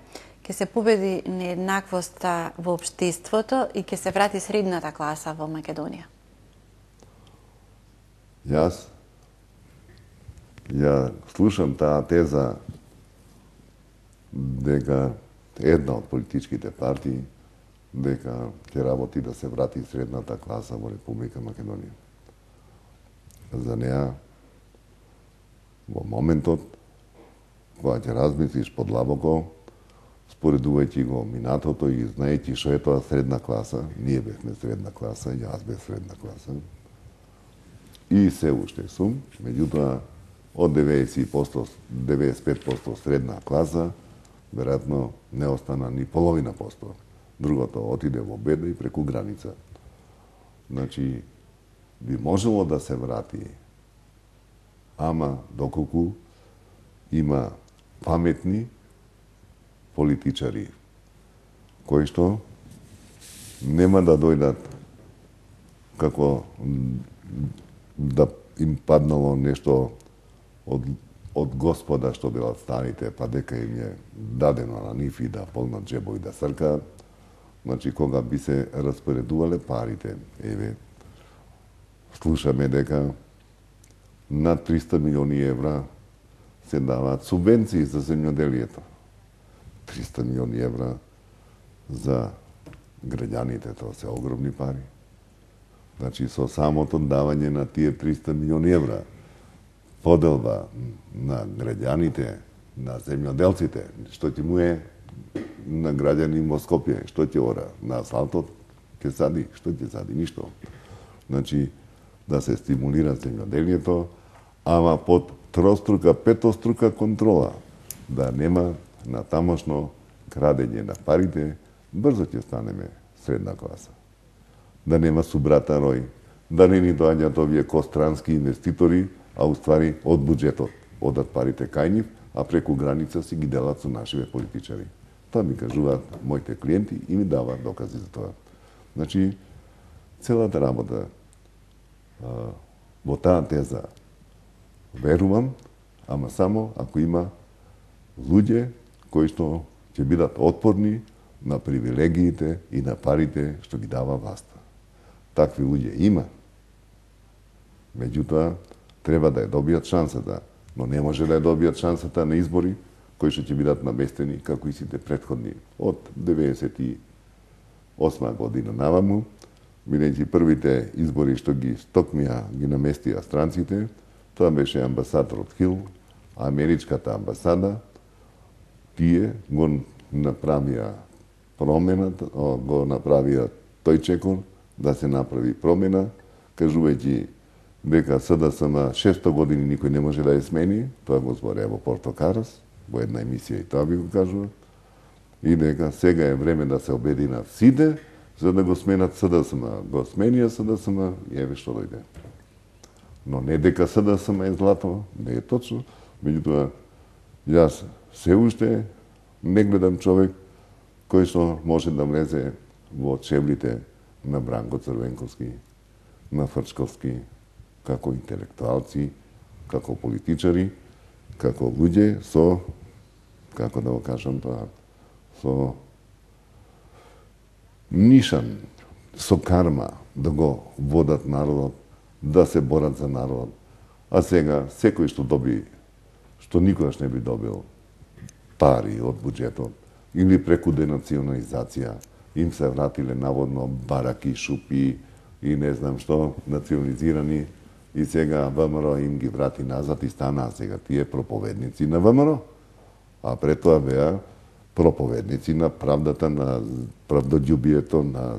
ќе се победи нееднаквоста во општеството и ќе се врати средната класа во Македонија? Јас ја слушам таа теза дека една од политичките партии дека ќе работи да се врати средната класа во Република Македонија. За неа, во моментот, кога ќе размислиш подлабоко, споредувајќи го минатото и знаејќи што е тоа средна класа, ние бевме средна класа, јас бев средна класа, и се уште сум, меѓутоа, од деветдесет и пет проценти средна класа, веројатно не остана ни половина посто. Другото отиде во беда и преку граница. Значи, би можело да се врати, ама доколку има паметни политичари, кои што нема да дојдат како да им паднало нешто од, од Господа што билат старите, па дека им е дадено на нив и да полнат джебови да сркаат. Значи, кога би се распоредувале парите, еве, слушаме дека над триста милиони евра се даваат субвенции за земјоделието. триста милиони евра за граѓаните, тоа се огромни пари. Значи, со самото давање на тие триста милиони евра, поделба на граѓаните, на земјоделците, што ќе му е на граѓани во Скопје, што ќе ора? На асфалтот ќе сади, што ќе сади? Ништо. Значи, да се стимулира земјоделието, ама под трострука, петострука контрола, да нема на тамошно крадење на парите, брзо ќе станеме средна класа. Да нема субрата рој, да не ни доаѓаат овие кострански инвеститори, а уствари од буџетот одат парите кај нив, а преку граница си ги делат со нашиве политичари. Тоа ми кажуваат моите клиенти и ми даваат докази за тоа. Значи, целата работа а, во таа теза верувам, ама само ако има луѓе кои што ќе бидат отпорни на привилегиите и на парите што ги дава власта. Такви луѓе има. Меѓутоа, треба да ја добијат шансата, но не може да ја добијат шансата на избори кои што ќе бидат наместени како и сите претходни од деветдесет и осма година наваму, бидејќи првите избори што ги стокмија, ги наместија странците, тоа беше амбасадорот Хил, америчката амбасада, тие го направија промената, го направија тој чекор да се направи промена, кажувајќи дека СДСМ шесто години никој не може да ја смени, тоа го збореа во Порто Карас, во една емисија и тоа би го кажува, и дека сега е време да се обединат сите, за да го сменат СДСМ. Го сменија СДСМ и еве што дојде. Но не дека СДСМ е злато, не е точно, меѓутоа, јас се уште не гледам човек кој што може да влезе во чевлите на Бранко Црвенковски, на Фрчковски, како интелектуалци, како политичари, како луѓе со, како да го кажам тоа, со нишан, со карма да го водат народот, да се борат за народот. А сега, секој што доби, што никогаш не би добил пари од буџетот, или преку денационализација, им се вратиле наводно бараки, шупи и не знам што, национализирани, и сега ВМРО им ги врати назад и станаа сега тие проповедници на ВМРО. А пред тоа беа проповедници на правдата, на правдољубието, на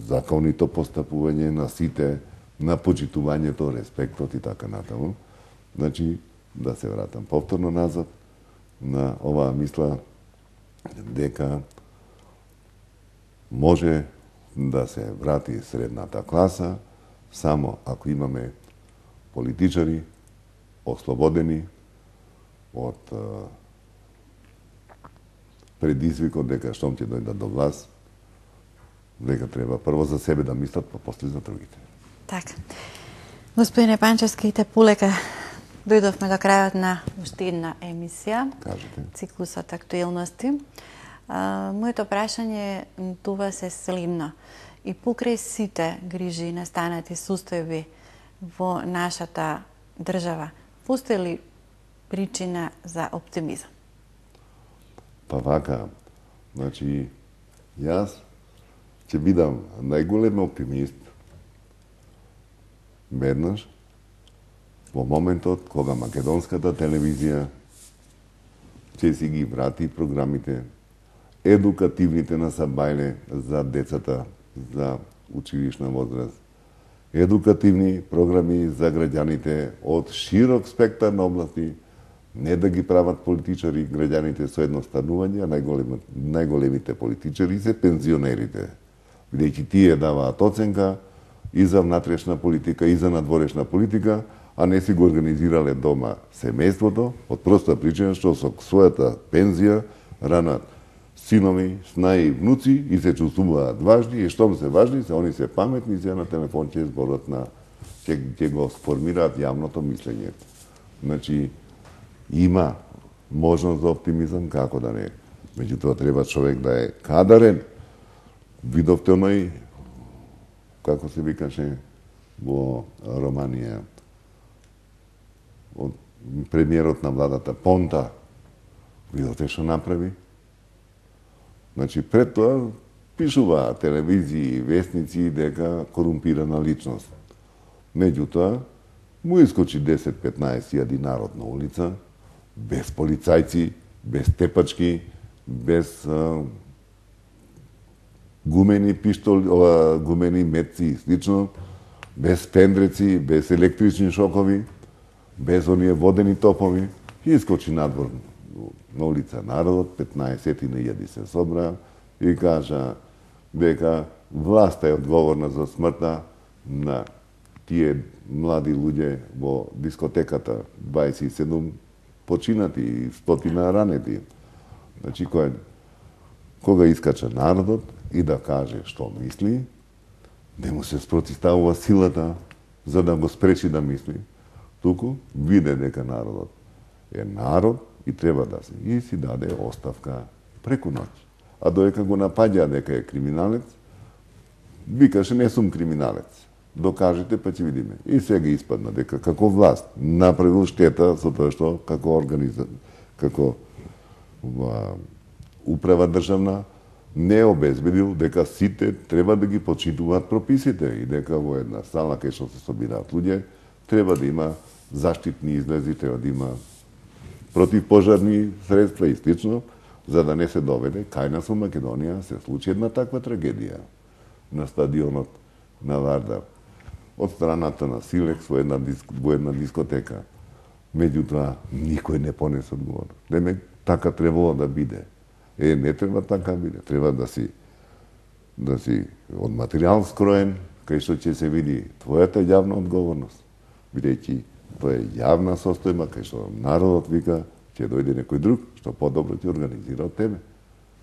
законито постапување на сите, на почитувањето, респектот и така натаму. Значи, да се вратам повторно назад на оваа мисла дека може да се врати средната класа само ако имаме политичари ослободени од предизвикот дека штом ќе дојдат до власт, дека треба прво за себе да мислат, па после за другите. Така. Господине Панчевски, те полека дојдовме до крајот на уште една емисија. Кажете. Циклусот актуелности. А, моето прашање тоа се следно. И покрај сите грижи и настанати состојби во нашата држава, постои ли причина за оптимизам? Па вака, значи, јас ќе бидам најголем оптимист веднаш во моментот кога македонската телевизија ќе си ги врати програмите едукативните на Сабајле за децата, за училишна возраст, едукативни програми за граѓаните од широк спектар на области, не да ги прават политичари граѓаните со едноставнување, а најголем, најголемите политичари се пензионерите, бидејќи тие даваат оценка и за внатрешна политика, и за надворешна политика, а не си го организирале дома семејството, од проста причина што со својата пензија ранат синови, снаи и внуци и се чувствуваат важни, и штом се важни, се они се паметни, се на телефон ќе зборат на ќе, ќе го сформираат јавното мислење. Значи, има можност за оптимизам, како да не. Меѓутоа треба човек да е кадарен. Видовте оној, како се викаше во Романија, од премиерот на владата Понта, видовте што направи? Значи, пред тоа пишува телевизии и вестници дека корумпирана личност. Меѓутоа, му искочи десет-петнаесет илјади народ на улица, без полицајци, без тепачки, без а, гумени пиштоли, ова, гумени метци и слично, без пендреци, без електрични шокови, без оние водени топови, и искочи надвор на улица народот, петнаесет илјади се собра и кажа дека власта е одговорна за смртта на тие млади луѓе во дискотеката, дваесет и седум починати и стотина ранети. Значи, кој, кога искача народот и да каже што мисли, не му се спротивставува силата за да го спречи да мисли, туку виде дека народот е народ и треба да се и си даде оставка преку ноќ. А доека го напаѓа дека е криминалец, викаше не сум криминалец. Докажете па ќе видиме. И сега испадна дека како власт направил штета со тоа што како организа, како ва, управа државна не обезбедил дека сите треба да ги почитуваат прописите и дека во една сала кај што се собираат луѓе треба да има заштитни излези, треба да има противпожарни средства и слично, за да не се доведе кај нас во Македонија се случи една таква трагедија на стадионот на Вардар од страната на Силекс во една, диск, во една дискотека. Меѓутоа, никој не понесе одговорност. Деме, така требало да биде. Е, не треба така биде. Треба да си да си од материјал скроен, кај што ќе се види твојата јавна одговорност. Бидејќи тоа е јавна состојба, кај што народот вика, ќе дојде некој друг, што подобро ќе организира од тебе.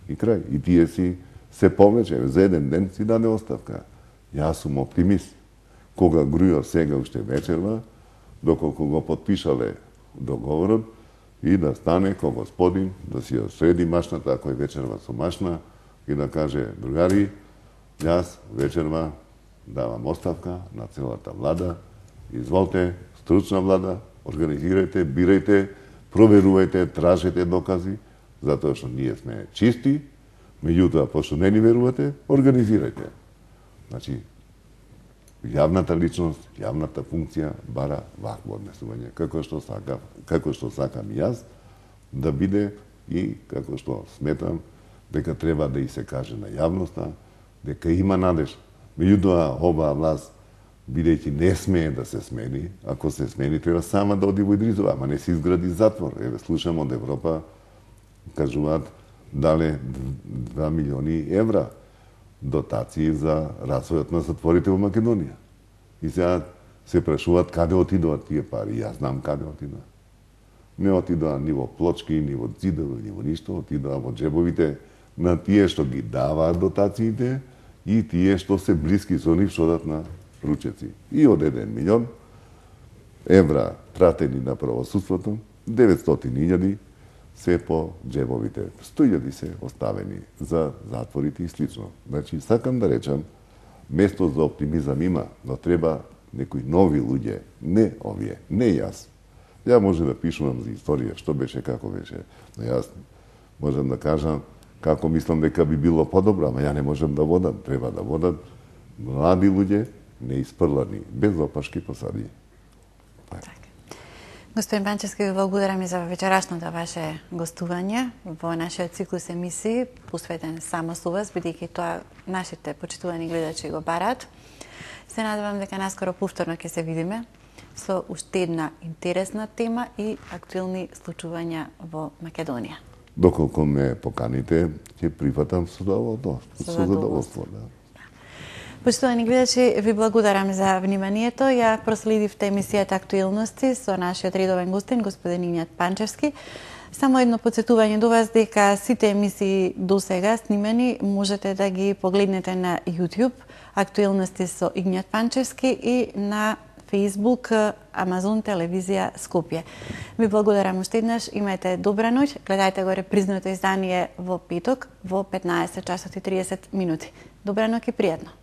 И крај. И тие си се повлече, за еден ден си даде оставка. Јас сум оптимист. Кога грујо сега уште вечерва, доколку го подпишале договорот, и да стане ко господин, да си ја среди машната, ако е вечерва со машна, и да каже, другари, јас вечерва давам оставка на целата влада, изволте, стручна влада, организирајте, бирајте, проверувајте, тражете докази, затоа што ние сме чисти, меѓутоа, пошто не ни верувате, организирајте. Значи, јавната личност, јавната функција бара вакво однесување, како што сакам, како што сакам и јас да биде и како што сметам дека треба да и се каже на јавноста дека има надеж. Меѓутоа, оваа власт бидејќи не смее да се смени, ако се смени треба сама да оди во Идризова, ама не се изгради затвор. Еве слушам од Европа кажуваат дале два милиони евра. дотации за развојот на затворите во Македонија. И сега се прашуваат каде отидуваат тие пари. Јас знам каде отидуваат. Не отидоа ни во плочки, ни во ѕидови, ни во ништо, отидоа во џебовите на тие што ги даваат дотациите и тие што се блиски со нив што дадат на ручеци. И од еден милион евра пратени на правосудството, деветстотини илјади се по џебовите. сто илјади се оставени за затворите и слично. Значи, сакам да речам, место за оптимизам има, но треба некои нови луѓе, не овие, не јас. Ја може да пишувам за историја, што беше, како беше, но јас можам да кажам како мислам дека би било подобро, ама ја не можам да водам. Треба да водат млади луѓе, неиспрлани, без опашки посади. Така. Господин Панчевски, ви благодарам и за вечерашното ваше гостување во нашиот циклус емисии, посветен само со вас, бидејќи тоа нашите почитувани гледачи го бараат. Се надевам дека наскоро повторно ќе се видиме со уште една интересна тема и актуелни случувања во Македонија. Доколку ме поканите, ќе прифатам со задоволство. Со задоволство, да. Почитувани гледачи, ви благодарам за вниманието. Ја проследивте емисијата Актуелности со нашиот редовен гостин, господин Игњат Панчевски. Само едно подсетување до вас дека сите емисии до сега снимени можете да ги погледнете на YouTube, Актуелности со Игњат Панчевски и на Facebook, Амазон телевизија Скопје. Ви благодарам уште еднаш, имајте добра ноќ, гледајте го репризното издание во петок во петнаесет часот и триесет минути. Добра ноќ и пријатно.